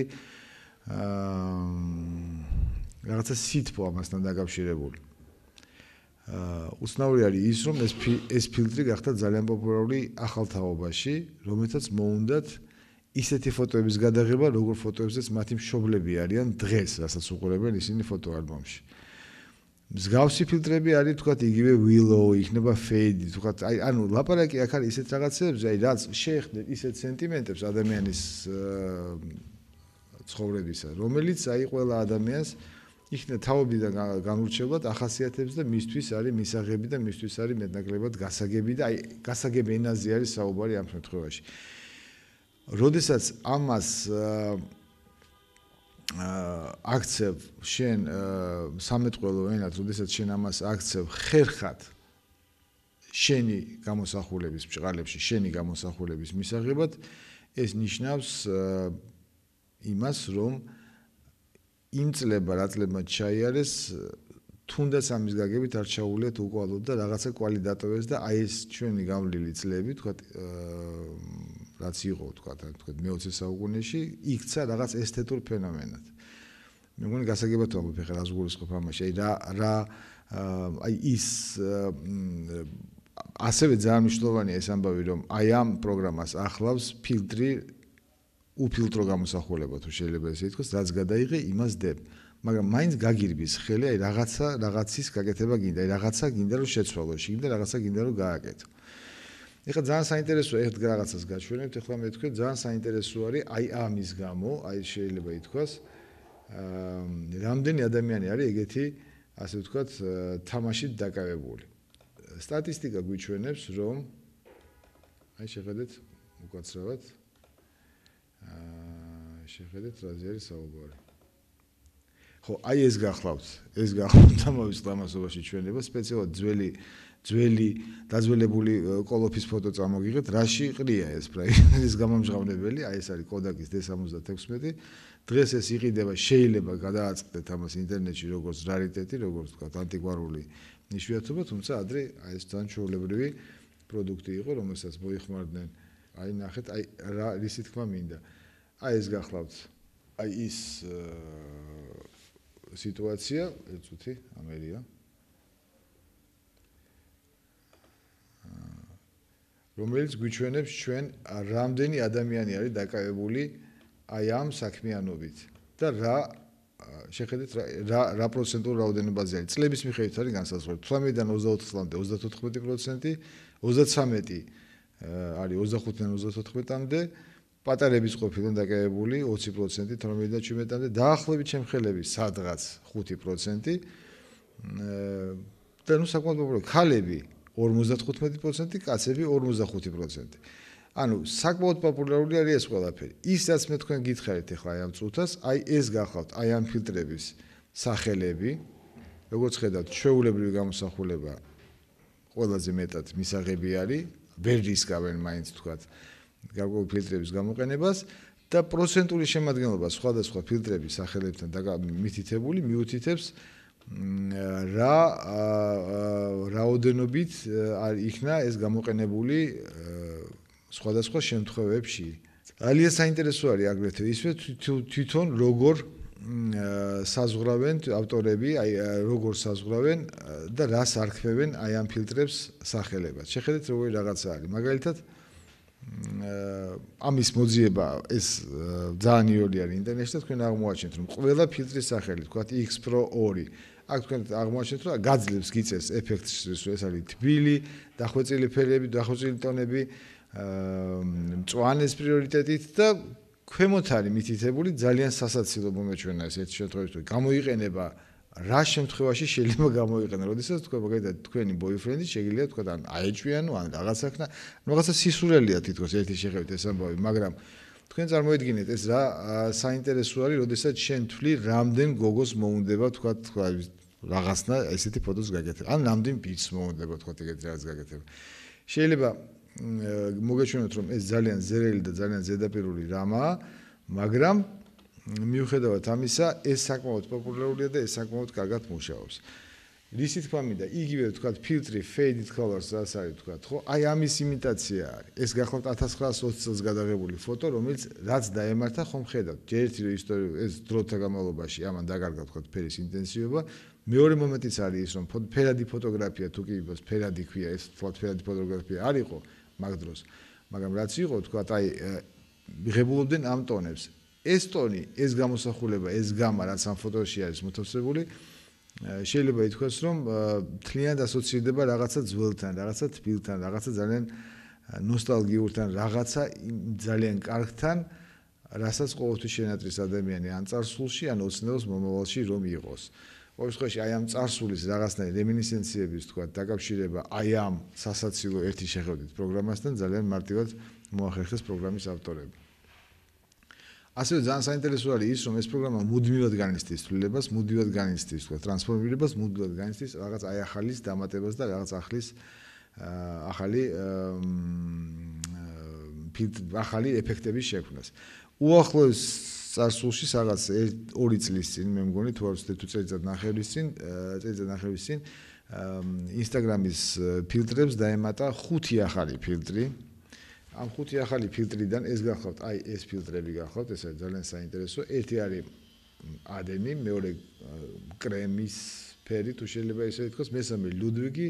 რაღაცა სითბო ამასთან დაკავშირებული. უცნაური არის ის, რომ ეს ეს ფილტრი გახდა ძალიან პოპულარული ახალ თაობაში, რომელთაც მოუნდათ ისეთი ფოტოების გადაღება, როგორ ფოტოებზეც მათი მშობლები არიან დღეს, რასაც უყურებენ ისინი ფოტოალბომში. მსგავსი ფილტრები არის, თქვათ, იგივე willow, იქნება fade, თქვათ, აი, ანუ ლაპარაკი აქ არის ისეთ რაღაცებზე, აი, რაც შეეხდეთ ისეთ სენტიმენტებს ადამიანის ცხოვრებისა, რომელიც აი ყველა ადამიანს იქნება თავობიდან განურჩევლად ახასიათებს და მისთვის არის მისაღები და მისთვის არის მეტნაკლებად გასაგები და აი, გასაგები ენაზე არის საუბარი ამ შემთხვევაში. როდესაც ამას აქცევ შენ სამეთყველო ენად, როდესაც შენ ამას აქცევ ხერხად შენი გამოსახულების ბჭყალებში, შენი გამოსახულების მისაღებად, ეს ნიშნავს იმას, რომ იმ წლება, რა წლებმა ჩაიარეს, თუნდაც ამის გაგებით არ ჩაუვლიათ უკვალოდ და რაღაცა კვალი დატოვეს და აი ეს ჩვენი გამლილი წლები, თქვათ, რაც იყო, თქვათ, თქვათ მეოცე საუკუნეში, იქცა რაღაც ესთეტურ ფენომენად. მე მგონი გასაგებად ვამბობ ახლა რას გულისხმობ ამაში, აი რა რა აი ის ასევე ძალიან მნიშვნელოვანია ეს ამბავი, რომ აი ამ პროგრამას ახლავს ფილტრი უფილტრო გამოსახულება, თუ შეიძლება ესე ითქვას, რაც გადაიღე, იმას დებ. მაგრამ მაინც გაგირბის ხელი, აი რაღაცა რაღაცის გაკეთება გინდა, აი რაღაცა გინდა რომ შეცვალო, გინდა რაღაცა გინდა რომ გააკეთო. ეხლა ძალიან საინტერესოა ერთ რაღაცას გაჩვენებთ, ეხლა მე თქვენ ძალიან საინტერესო არის აი ამის გამო, აი შეიძლება ითქვას, რამდენი ადამიანი არის ეგეთი, ასე ვთქვათ, თამაშით დაკავებული. სტატისტიკა გვიჩვენებს, რომ აი შეხედეთ უკაცრავად შეხედეთ რაზე არის საუბარი. ხო, აი ეს გახლავთ, ეს გახლავთ ამავე წლამასობაში ჩვენება, სპეციალურად ძველი ძველი დაძველებული კოლოფის ფოტო წამოგიღეთ, რაში ყრია ეს პრაირის გამომჟღავნებელი, აი ეს არის კოდაკის დე სამოცდათექვსმეტი. დღეს ეს იყიდება, შეიძლება გადააწყდეთ ამას ინტერნეტში როგორც რარიტეტი, როგორც ვთქვათ, ანტიკვარული იშვიათობა, თუმცა ადრე აი ეს ძალიან ჩვეულებრივი პროდუქტი იყო, რომელსაც მოიხმარდნენ. აი ნახეთ, აი რა რისი თქმა მინდა. აი ეს გახლავთ, აი ის სიტუაცია, ერთ წუთი, ამერია. რომელიც გვიჩვენებს ჩვენ რამდენი ადამიანი არის დაკავებული აი ამ საქმიანობით და რა შეხედეთ რა რა პროცენტულ რაოდენობაზე არის. წლების მიხედვით არის განსაზღვრული. თვრამეტიდან ოცდაოთხ წლამდე ოცდათოთხმეტი პროცენტი, ოცდაცამეტი არის ოცდახუთიდან ოცდათოთხმეტამდე პატარების ყოფილან დაკავებული ოცი პროცენტი თორმეტ შვიდამდე, დაახლოებით შემხელები სადღაც ხუთი პროცენტი. და ნუ საკმაოდ პოპულარული ქალები ორმოცდათხუთმეტი პროცენტი, კაცები ორმოცდახუთი პროცენტი. ანუ საკმაოდ პოპულარული არის ეს ყველაფერი. ის რაც მე თქვენ გითხარით ახლა აი ამ წუთას, აი ეს გახავთ აი ამ ფილტრების სახელები. როგორც ხედავთ, ჩვეულებრივი გამოსახულება ყველაზე მეტად მისაღები არის, ვერ რისკავენ მაინც თქვათ გარკვეული ფილტრების გამოყენებას და პროცენტული შემადგენლობა სხვადასხვა ფილტრების სახელებთან მითითებული მიუთითებს რა რაოდენობით იქნა ეს გამოყენებული სხვადასხვა შემთხვევებში. ძალიან საინტერესო არის აგრეთვე ისე თვითონ როგორ საზღვრავენ ავტორები, აი როგორ საზღვრავენ და რას არქმევენ აი ამ ფილტრებს სახელებად. შეხედეთ როგორი რაღაცა არის. მაგალითად ამის მოძიება ეს ძალიან იოლი არის ინტერნეტში და თქვენ აღმოაჩენთ რომ ყველა ფილტრის სახელი, თქვათ X Pro ორი აქ თქვენ აღმოაჩენთ რომ გაძლევს გიწევს ეფექტს, ეს არის თბილი, დახვეწილი ფერები, დახვეწილი ტონები, მწვანეს პრიორიტეტით და ქვემოთ არის მითითებული ძალიან სასაცილო მომეჩვენა ეს ერთ შემთხვევაში გამოიყენება რა შემთხვევაში შეიძლება გამოიყენა, როდესაც თქვენ მაგალითად თქვენი ბოიფრენდი შეგიძლია თქვა ან აეჭვიანო ან რაღაცა ხნა, რაღაცა სისურელია თითქოს ერთი შეხედვით ეს ამბავი, მაგრამ თქვენ წარმოიდგინეთ ეს რა საინტერესო არის, როდესაც შენ თვლი რამდენ გოგოს მოუნდება თქვა რაღაცნა ესეთი ფოტოს გაკეთება, ან რამდენ ბიჭს მოუნდება თქვა ეგეთი რაღაც გაკეთება. შეიძლება მოგეჩვენოთ რომ ეს ძალიან ზერელი და ძალიან ზედაპირული რამაა, მაგრამ მიუხედავად ამისა, ეს საკმაოდ პოპულარულია და ეს საკმაოდ კარგად მუშაობს. რისი თქმა მინდა, იგივე ვთქვათ, ფილტრი faded colors რაც არის ვთქვათ, ხო? აი ამის იმიტაცია არის. ეს გახლავთ ათას ცხრაასი ოცი წელს გადაღებული ფოტო, რომელიც რაც დაემართა, ხომ ხედავთ. ერთი რომ ისტორია ეს დროთა განმავლობაში ამან დაკარგა ვთქვათ ფერის ინტენსივობა, მეორე მომენტიც არის ის, რომ ფერადი ფოტოგრაფია თუ კი იყოს, ფერადი ქვია, ეს ვთქვათ ფერადი ფოტოგრაფია არ იყო მაგ დროს. მაგრამ რაც იყო, ვთქვათ, აი მიღებულობდნენ ამ ტონებს. ეს ტონი, ეს გამოსახულება, ეს გამა, რაც ამ ფოტოში არის მოთავსებული, შეიძლება ითქვას, რომ მთლიანად ასოცირდება რაღაცა ძველთან, რაღაცა თბილთან, რაღაცა ძალიან ნოსტალგიურთან, რაღაცა ძალიან კარგთან, რასაც ყოველთვის შენატრის ადამიანი ან წარსულში, ან ოცნებას მომავალში რომ იყოს. ყოველ შემთხვევაში აი ამ წარსულის რაღაცნაირი რემინისცენციების თქვა დაკავშირება აი ამ სასაცილო ერთი შეხედვით პროგრამასთან ძალიან მარტივად მოახერხეს პროგრამის ავტორები. ასევე ძალიან საინტერესო არის ის, რომ ეს პროგრამა მუდმივად განიცდის ცვლილებას, მუდმივად განიცდის თქვა ტრანსფორმირებას, მუდმივად განიცდის რაღაც აი ახალის დამატებას და რაღაც ახლის ახალი ახალი ეფექტების შექმნას. უახლოეს წარსულში რაღაც ორი წლის წინ მე მგონი თუ არ ვცდები თუ წელიწად ნახევრის წინ, წელიწად ნახევრის წინ Instagram-ის ფილტრებს დაემატა ხუთი ახალი ფილტრი. ამ ხუთი ახალი ფილტრიდან ეს გახლავთ, აი ეს ფილტრები გახლავთ, ეს არის ძალიან საინტერესო. ერთი არის ადენი, მეორე კრემის ფერი, თუ შეიძლება ისე ითქვას, მესამე ლუდვიგი,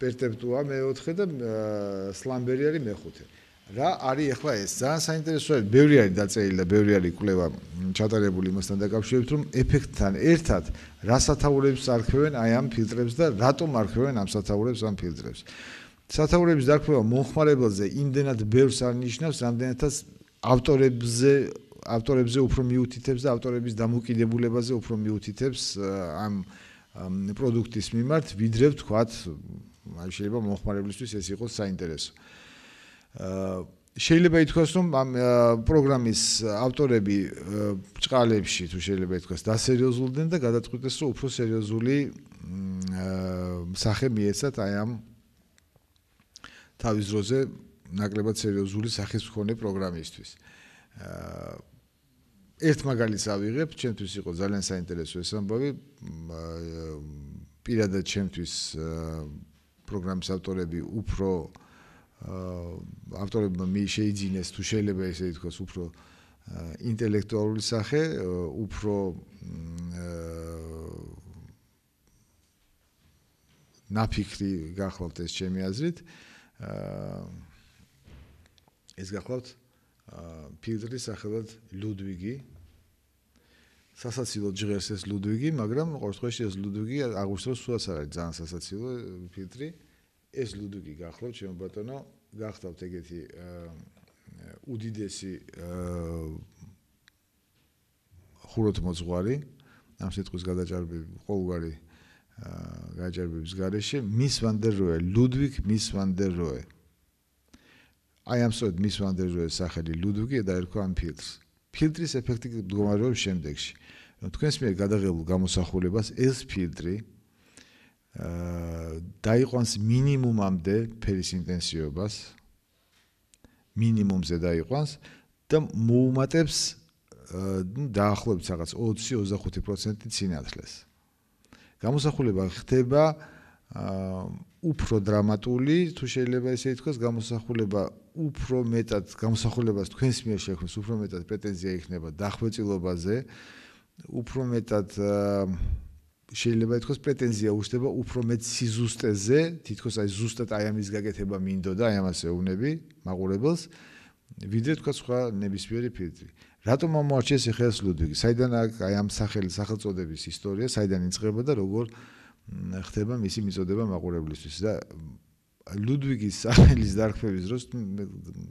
პერტეპტუა მეოთხე და სლამბერი არის მეხუთე. რა არის ახლა ეს? ძალიან საინტერესო არის, ბევრი არის დაწერილი და ბევრი არის კვლევა ჩატარებული იმასთან დაკავშირებით, რომ ეფექტთან ერთად რა სათაურებს არქმევენ აი ამ ფილტრებს და რატომ არქმევენ ამ სათაურებს ამ ფილტრებს. სათაურების დარქმევა მომხმარებელზე იმდენად ბევრს არ ნიშნავს, რამდენადაც ავტორებზე ავტორებზე უფრო მიუთითებს და ავტორების დამოკიდებულებაზე უფრო მიუთითებს ამ პროდუქტის მიმართ, ვიდრე ვთქვათ, აი შეიძლება მომხმარებლისთვის ეს იყოს საინტერესო. შეიძლება ითქვას, რომ ამ პროგრამის ავტორები ბრჭყალებში თუ შეიძლება ითქვას, დასერიოზულდნენ და გადაწყვიტეს, რომ უფრო სერიოზული სახე მიეცათ აი ამ თავის დროზე ნაკლებად სერიოზული სახის მქონე პროგრამისთვის. ერთ მაგალითს ავიღებ, ჩემთვის იყო ძალიან საინტერესო ეს ამბავი. პირადად ჩემთვის პროგრამის ავტორები უფრო ავტორებმა შეიძინეს თუ შეიძლება ესე ითქვას, უფრო ინტელექტუალური სახე, უფრო ნაფიქრი გახლავთ ეს ჩემი აზრით. ეს გახლავთ ფილტრი სახელად ლუდვიგი. სასაცილო ჟღერს ეს ლუდვიგი, მაგრამ ყოველ შემთხვევაში ეს ლუდვიგი აღვნიშნოს სულაც არ არის ძალიან სასაცილო ფილტრი. ეს ლუდვიგი გახლავთ, ჩემო ბატონო, გახდავთ ეგეთი უდიდესი ხუროთმოძღვარი ამ სიტყვის გადაჭარბები ყოველგვარი გაჭარბების გარეშე მის ვან დერ როე ლუდვიგ მის ვან დერ როე აი ამ სწორედ მის ვან დერ როეს სახელი ლუდვიგი დაერქვა ამ ფილტრს ფილტრის ეფექტი მდგომარეობს შემდეგში რომ თქვენს მიერ გადაღებულ გამოსახულებას ეს ფილტრი დაიყვანს მინიმუმამდე ფერის ინტენსივობას მინიმუმზე დაიყვანს და მოუმატებს დაახლოებით რაღაც ოცი ოცდახუთი პროცენტი სინათლეს გამოსახულება ხდება უფრო დრამატული თუ შეიძლება ესე ითქვას გამოსახულება უფრო მეტად გამოსახულებას თქვენს მიერ შექმნის უფრო მეტად პრეტენზია იქნება დახვეწილობაზე უფრო მეტად შეიძლება ითქვას პრეტენზია უჩნდება უფრო მეტ სიზუსტეზე თითქოს აი ზუსტად აი ამის გაკეთება მინდოდა აი ამას ეუბნები მაყურებელს ვიდრე თქვა სხვა ნებისმიერი ფილტრი რატომ ამოარჩიეს ახლა ეს ლუდვიგი საიდან აი ამ სახელის სახელწოდების ისტორია საიდან იწყება და როგორ ხდება მისი მიწოდება მაყურებლისთვის და ლუდვიგის სახელის დარქმევის დროს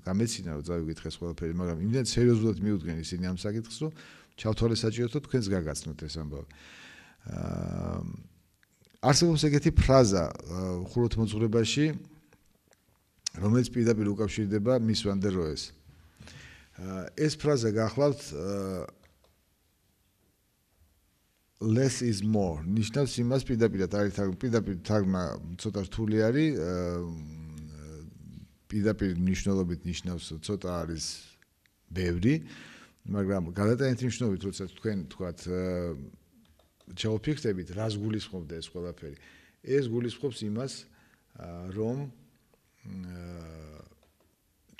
გამეცინა რომ წავიკითხე ყველაფერი მაგრამ იმდენ სერიოზულად მიუდგენ ისინი ამ საკითხს რომ ჩავთვალე საჭიროა თუ თქვენს გაგაცნოთ ეს ამბავი არსებობს ეგეთი ფრაზა ხუროთმოძღვრებაში რომელიც პირდაპირ უკავშირდება მის ვან დერ როეს ეს ფრაზა გახლავთ less is more ნიშნავს იმას პირდაპირად არის პირდაპირ თარგმნა ცოტა რთული არის პირდაპირ მნიშვნელობით ნიშნავს ცოტა არის ბევრი მაგრამ გადატანითი მნიშვნელობით როცა თქვენ თქვათ ჩაუფიქრდებით რას გულისხმობდა ეს ყველაფერი ეს გულისხმობს იმას რომ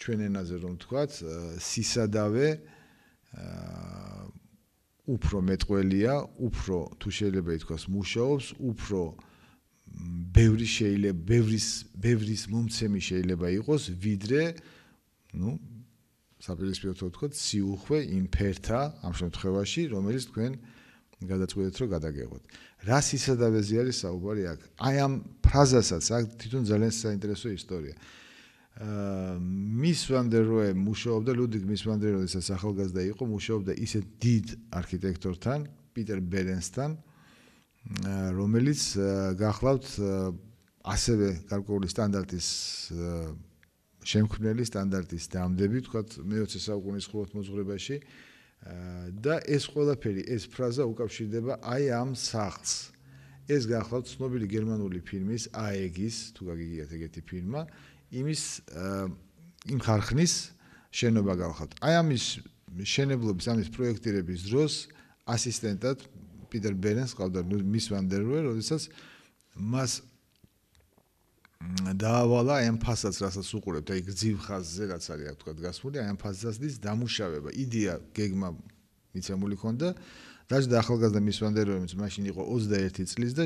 ჩვენ ენაზე რომ თქვათ სისადავე უფრო მეტყველია, უფრო თუ შეიძლება ითქვას მუშაობს, უფრო ბევრი შეიძლება, ბევრის ბევრის მომცემი შეიძლება იყოს, ვიდრე, ну, საპირისპიროდ ვთქვათ, სიუხვე იმ ფერთა ამ შემთხვევაში, რომელიც თქვენ გადაწყვეტეთ რომ გადაგეღოთ. რა სისადავეზე არის საუბარი აქ? აი ამ ფრაზასაც აქ თვითონ ძალიან საინტერესო ისტორია. მის ვან დერ როე მუშაობდა ლუდვიგ მის ვან დერ როეს ახალგაზრდა იყო მუშაობდა ისეთ დიდ არქიტექტორთან პიტერ ბერენსთან რომელიც გახლავთ ასევე გარკვეული სტანდარტის შემქმნელი სტანდარტის დამდები თქვათ მეოცე საუკუნის ხუროთმოძღვრებაში და ეს ყველაფერი ეს ფრაზა უკავშირდება აი ამ სახლს ეს გახლავთ ცნობილი გერმანული ფილმის აეგის თუ გაგიგიათ ეგეთი ფილმა იმის იმ ხარხნის შენობა გახლავთ. აი ამის შენებლობის ამის პროექტირების დროს ასისტენტად პიტერ ბერენს ყავდა მის ვან დერ როე, როდესაც მას დაავალა აი ამ ფასადს, რასაც უყურებთ, აი გრძივ ხაზზე რაც არის აქ თქვა გასმული, აი ამ ფასადის დამუშავება. იდეა გეგმა მიცემული ქონდა. დაჟდა ახალგაზრდა მის ვან დერ როე, რომელიც მაშინ იყო ოცდაერთი წლის და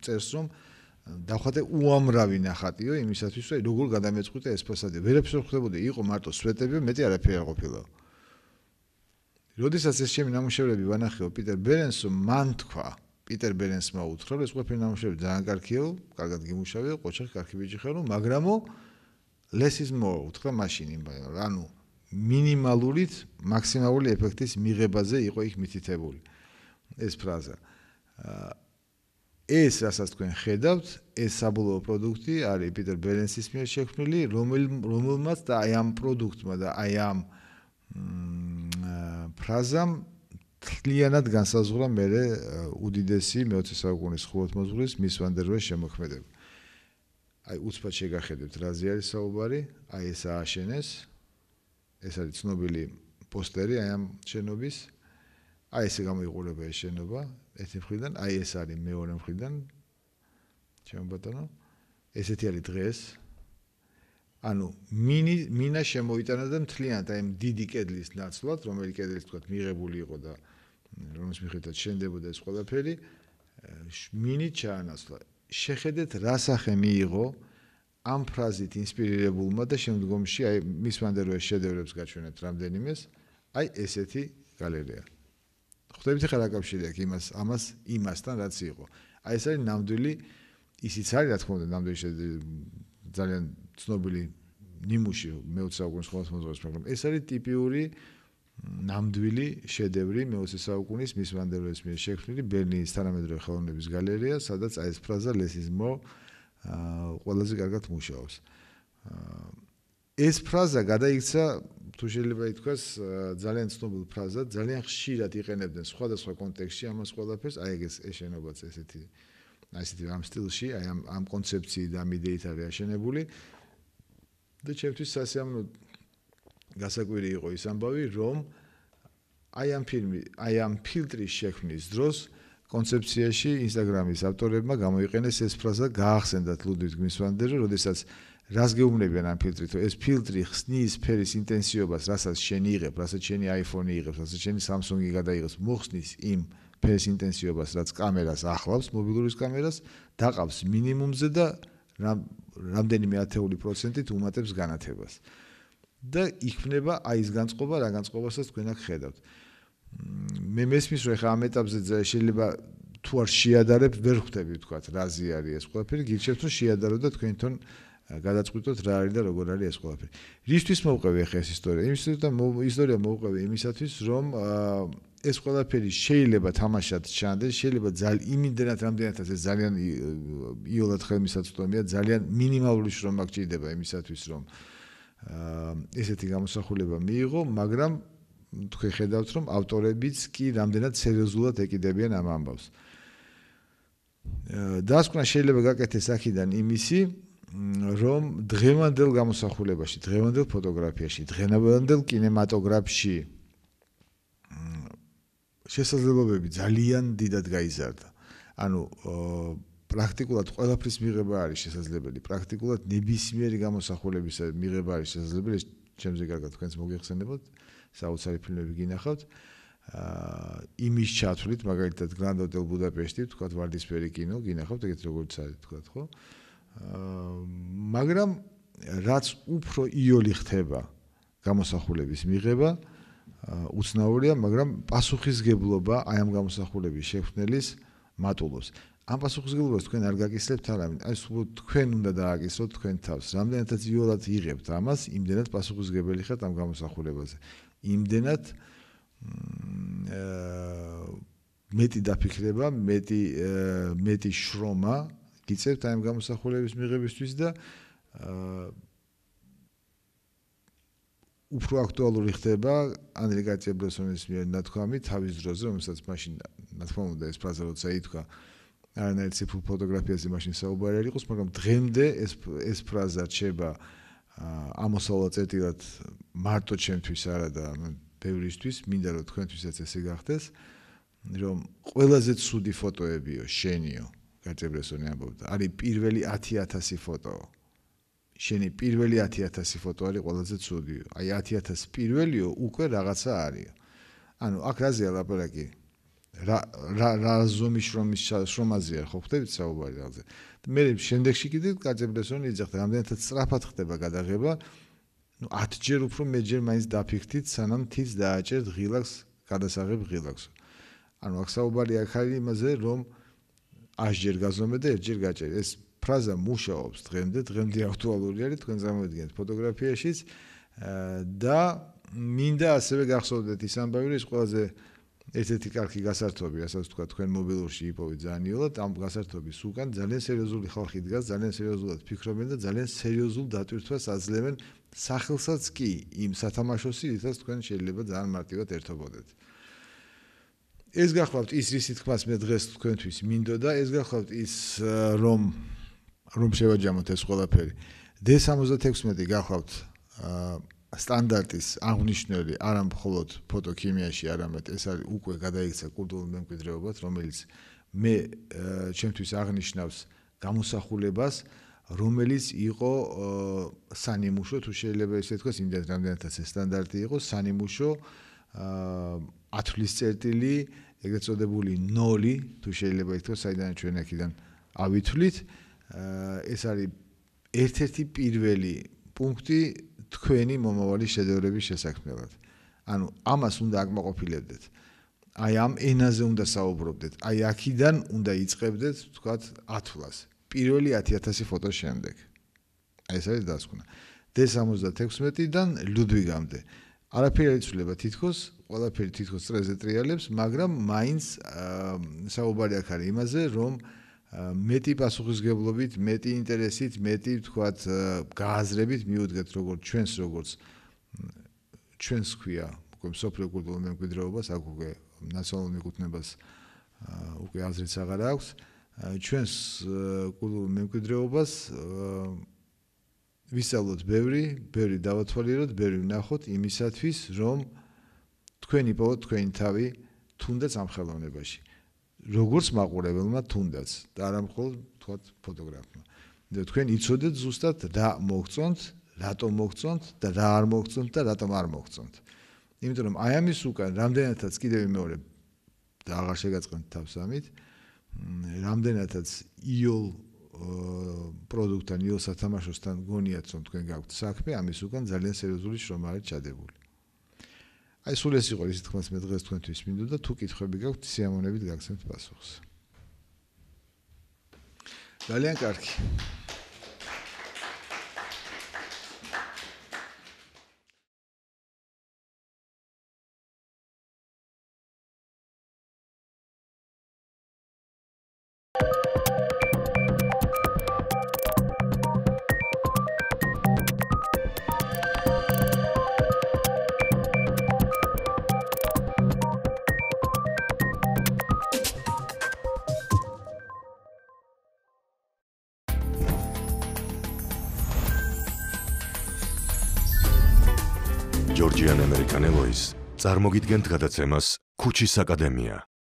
წერს რომ დავხატე უამრავი ნახატიო იმისათვის რომ როგორ გადამეწყვიტე ეს ფასადი ვერაფერს არ ხდებოდა იყო მარტო სვეტები მეტი არაფერი არ ყოფილა როდესაც ეს ჩემი ნამუშევრები ვანახეო პიტერ ბერენსო მან თქვა პიტერ ბერენსმა უთხრა რომ ეს ყველაფერი ნამუშევრები ძალიან კარგიო კარგად გიმუშავეო ყოჩახი კარგი ბიჭი ხარო მაგრამო less is more უთხრა მაშინ იმ ანუ მინიმალურით მაქსიმალური ეფექტის მიღებაზე იყო იქ მითითებული ეს ფრაზა ეს რასაც თქვენ ხედავთ, ეს საბოლოო პროდუქტი არის პიტერ ბერენსის მიერ შექმნილი, რომელმაც და აი ამ პროდუქტმა და აი ამ ფრაზამ თლიანად განსაზღვრა მერე უდიდესი მეოცე საუკუნის ხუროთმოძღვრის მის ვან დერ როეს შემოქმედება. აი უცბად შეგახედებთ რაზე არის საუბარი, აი ეს ააშენეს. ეს არის ცნობილი პოსტერი აი ამ შენობის. აი ესე გამოიყურება ეს შენობა. ერთი მხრიდან, აი ეს არის მეორე მხრიდან. ჩემო ბატონო, ესეთი არის დღეს. ანუ მინი მინა შემოიტანა და მთლიანად აი დიდი კედლის ნაცვლად, რომელიც კედლის თქვა მიღებული იყო და რომის მიხედვით შენდებოდა ეს ყველაფერი, მინი ჩაანაცვლა. შეხედეთ რა სახე მიიღო ამ ფრაზით ინსპირირებულმა და შემდგომში აი მის ვან დერ როეს შედევრებს გაჩვენებთ რამდენიმეს, აი ესეთი გალერეა. ხვდებით ხა რა კავშირი აქვს იმას ამას იმასთან რაც იყო. აი ეს არის ნამდვილი ისიც არის რა თქმა უნდა ნამდვილი ძალიან ცნობილი ნიმუში მეოცე საუკუნის ხოლმე მოძღვრეს, მაგრამ ეს არის ტიპიური ნამდვილი შედევრი მეოცე საუკუნის მის ვანდერლოის მიერ შექმნილი ბერლინის თანამედროვე ხელოვნების გალერეა, სადაც აი ეს ფრაზა ლესიზმო ყველაზე კარგად მუშაობს. ეს ფრაზა გადაიქცა, თუ შეიძლება ითქვას, ძალიან ცნობილ ფრაზად, ძალიან ხშირად იყენებდნენ სხვადასხვა კონტექსტში ამას ყველაფერს, აი ეს ეშენობაც ესეთი აი ესეთი ამ სტილში, აი ამ ამ კონცეფციით და ამ იდეით არის აშენებული. და ჩემთვის სასიამოვნო გასაკვირი იყო ის ამბავი, რომ აი ამ ფილმი, აი ამ ფილტრის შექმნის დროს კონცეფციაში Instagram-ის ავტორებმა გამოიყენეს ეს ფრაზა, გაახსენდათ ლუდვიგ მის ვანდერზე, როდესაც რას გეუბნებიან ამ ფილტრით, რომ ეს ფილტრი ხსნის ფერის ინტენსივობას, რასაც შენ იღებ, რასაც შენი iPhone იღებს, რასაც შენი Samsung-ი გადაიღებს, მოხსნის იმ ფერის ინტენსივობას, რაც კამერას ახლავს, მობილურის კამერას, დაყავს მინიმუმზე და რამდენიმე ათეული პროცენტით უმატებს განათებას. და იქმნება აი ეს განწყობა, რა განწყობასაც თქვენ აქ ხედავთ. მე მესმის რომ ხა ამ ეტაპზე შეიძლება თუ არ შეადარებ, ვერ ხვდები თქვა რაზე არის ეს ყველაფერი, გირჩევთ რომ შეადარო და თქვენ თვითონ გადაწყვიტოთ რა არის და როგორ არის ეს ყველაფერი. რისთვის მოვყევი ახლა ეს ისტორია? იმისთვის და ისტორია მოვყევი იმისათვის, რომ ეს ყველაფერი შეიძლება თამაშად ჩანდეს, შეიძლება ძალიან იმდენად რამდენადაც ეს ძალიან იოლად ხელმისაწვდომია, ძალიან მინიმალური შრომა გჭირდება იმისათვის, რომ ესეთი გამოსახულება მიიღო, მაგრამ თქვენ ხედავთ, რომ ავტორებიც კი რამდენად სერიოზულად ეკიდებიან ამ ამბავს. დასკვნა შეიძლება გაკეთდეს აქედან იმისი, რომ დღევანდელ გამოსახულებაში, დღევანდელ ფოტოგრაფიაში, დღევანდელ კინემატოგრაფში შესაძლებლობები ძალიან დიდად გაიზარდა. ანუ პრაქტიკულად ყველაფრის მიღება არის შესაძლებელი, პრაქტიკულად ნებისმიერი გამოსახულების მიღება არის შესაძლებელი, ჩემზე კარგად თქვენს მოგეხსენებათ, საოცარი ფილმები გინახავთ. იმის ჩათვლით, მაგალითად Grand Hotel Budapest-ი, თქვათ ვარდისფერი კინო გინახავთ, ეგეთ როგორც არის, თქვათ, ხო? მაგრამ რაც უფრო იოლი ხდება გამოსახულების მიღება, უცნაურია, მაგრამ პასუხისგებლობა აი ამ გამოსახულების შექმნელის მატულობს. ამ პასუხისგებლობას თქვენ არ გაკისრებთ არავინ, აი სულ თქვენ უნდა დააკისროთ თქვენ თავს. რამდენადაც იოლად იღებთ ამას, იმდენად პასუხისგებელი ხართ ამ გამოსახულებაზე. იმდენად მეტი დაფიქრება, მეტი მეტი შრომა გიწევთ აი ამ გამოსახულების მიღებისთვის და უფრო აქტუალური ხდება ანდრე კარტიე-ბრესონის მიერ ნათქვამი თავის დროზე, რომელსაც მაშინ ნათქმა უნდა ეს ფრაზა როცა ითქვა არანაირ ციფრულ ფოტოგრაფიაზე მაშინ საუბარი არ იყოს, მაგრამ დღემდე ეს ეს ფრაზა რჩება ამოსავლა წერტილად მარტო ჩემთვის არა და ბევრისთვის, მინდა რომ თქვენთვისაც ესე გახდეს, რომ ყველაზე ცუდი ფოტოებიო, შენიო, კარტიე-ბრესონი ამბობდა, არის პირველი ათი ათასი ფოტო. შენი პირველი ათი ათასი ფოტო არის ყველაზე ცუდიო. აი ათი ათასი პირველიო უკვე რაღაცა არის. ანუ აქ რაზეა ლაპარაკი? რა რა რა ზომის შრომის შრომაზეა, ხო ხვდებით საუბარი რაღაცა. მე შემდეგში კიდე კარტიე-ბრესონი იძახდა, რამდენადაც სწრაფად ხდება გადაღება, ну ათჯერ უფრო მეჯერ მაინც დაფიქრდით, სანამ თიც დააჭერთ ღილაკს, გადასაღებ ღილაკს. ანუ აქ საუბარი აქ არის იმაზე, რომ ათჯერ გაზომე და ერთჯერ გაჭერი. ეს ფრაზა მუშაობს დღემდე, დღემდე აქტუალური არის, თქვენ წარმოიდგინეთ ფოტოგრაფიაშიც და მინდა ასევე გახსოვდეთ ის ამბავი, რომ ეს ყველაზე ერთ-ერთი კარგი გასართობი, რასაც თქვა თქვენ მობილურში იპოვეთ ძალიან იოლად, ამ გასართობის უკან ძალიან სერიოზული ხალხი დგას, ძალიან სერიოზულად ფიქრობენ და ძალიან სერიოზულ დატვირთვას აძლევენ სახელსაც კი იმ სათამაშოსი, რითაც თქვენ შეიძლება ძალიან მარტივად ერთობოდეთ. ეს გახლავთ ის რის თქმას მე დღეს თქვენთვის მინდოდა, ეს გახლავთ ის რომ რომ შევაჯამოთ ეს ყველაფერი. დე სამოცდათექვსმეტი გახლავთ სტანდარტის აღნიშნული არა მხოლოდ ფოტოქიმიაში, არამედ ეს არის უკვე გადაიქცა კულტურულ მემკვიდრეობად, რომელიც მე ჩემთვის აღნიშნავს გამოსახულებას, რომელიც იყო სანიმუშო, თუ შეიძლება ესე თქვას, იმდენად რამდენადაც ეს სტანდარტი იყო, სანიმუშო ათვლის წერტილი, ეგრეთ წოდებული ნოლი, თუ შეიძლება ითქვას, საიდან ჩვენ აქედან ავითვლით, ეს არის ერთ-ერთი პირველი პუნქტი თქვენი მომავალი შედევრების შესაქმნელად. ანუ ამას უნდა აკმაყოფილებდეთ. აი ამ ენაზე უნდა საუბრობდეთ. აი აქედან უნდა იწყებდეთ, თქვათ, ათვლას. პირველი ათი ათასი ფოტოს შემდეგ. აი ეს არის დასკვნა. დე სამოცდათექვსმეტიდან ლუდვიგამდე. არაფერი არ იცვლება თითქოს, ყველაფერი თითქოს წრეზე ტრიალებს, მაგრამ მაინც საუბარი აქ არის იმაზე, რომ მეტი პასუხისგებლობით, მეტი ინტერესით, მეტი თქვათ გააზრებით მიუდგეთ როგორც ჩვენს როგორც ჩვენს ქვია, უკვე სოფლიო კულტურულ მემკვიდრეობას, აქ უკვე ნაციონალურ მიკუთვნებას უკვე აზრიც აღარ აქვს. ჩვენს კულტურულ მემკვიდრეობას ვისწავლოთ ბევრი, ბევრი დავათვალიეროთ, ბევრი ვნახოთ იმისათვის, რომ თქვენ იპოვოთ თქვენი თავი თუნდაც ამ ხელოვნებაში. როგორც მაყურებელმა თუნდაც და არა მხოლოდ თქვათ ფოტოგრაფმა. და თქვენ იცოდეთ ზუსტად რა მოგწონთ, რატომ მოგწონთ და რა არ მოგწონთ და რატომ არ მოგწონთ. იმიტომ რომ აი ამის უკან რამდენადაც კიდევ მეორე და აღარ შეგაწყენთ თავს ამით, რამდენადაც იოლ პროდუქტთან, იოლ სათამაშოსთან გონიათ რომ თქვენ გაქვთ საქმე, ამის უკან ძალიან სერიოზული შრომა არის ჩადებული. აი სულ ეს იყო ისე თქმაც მე დღეს თქვენთვის მინდოდა, თუ კითხვები გაქვთ, სიამოვნებით გაგცემთ პასუხს. ძალიან კარგი. ჯორჯიან ამერიკანელოის წარმოგიდგენთ გადაცემას ქუჩის აკადემია.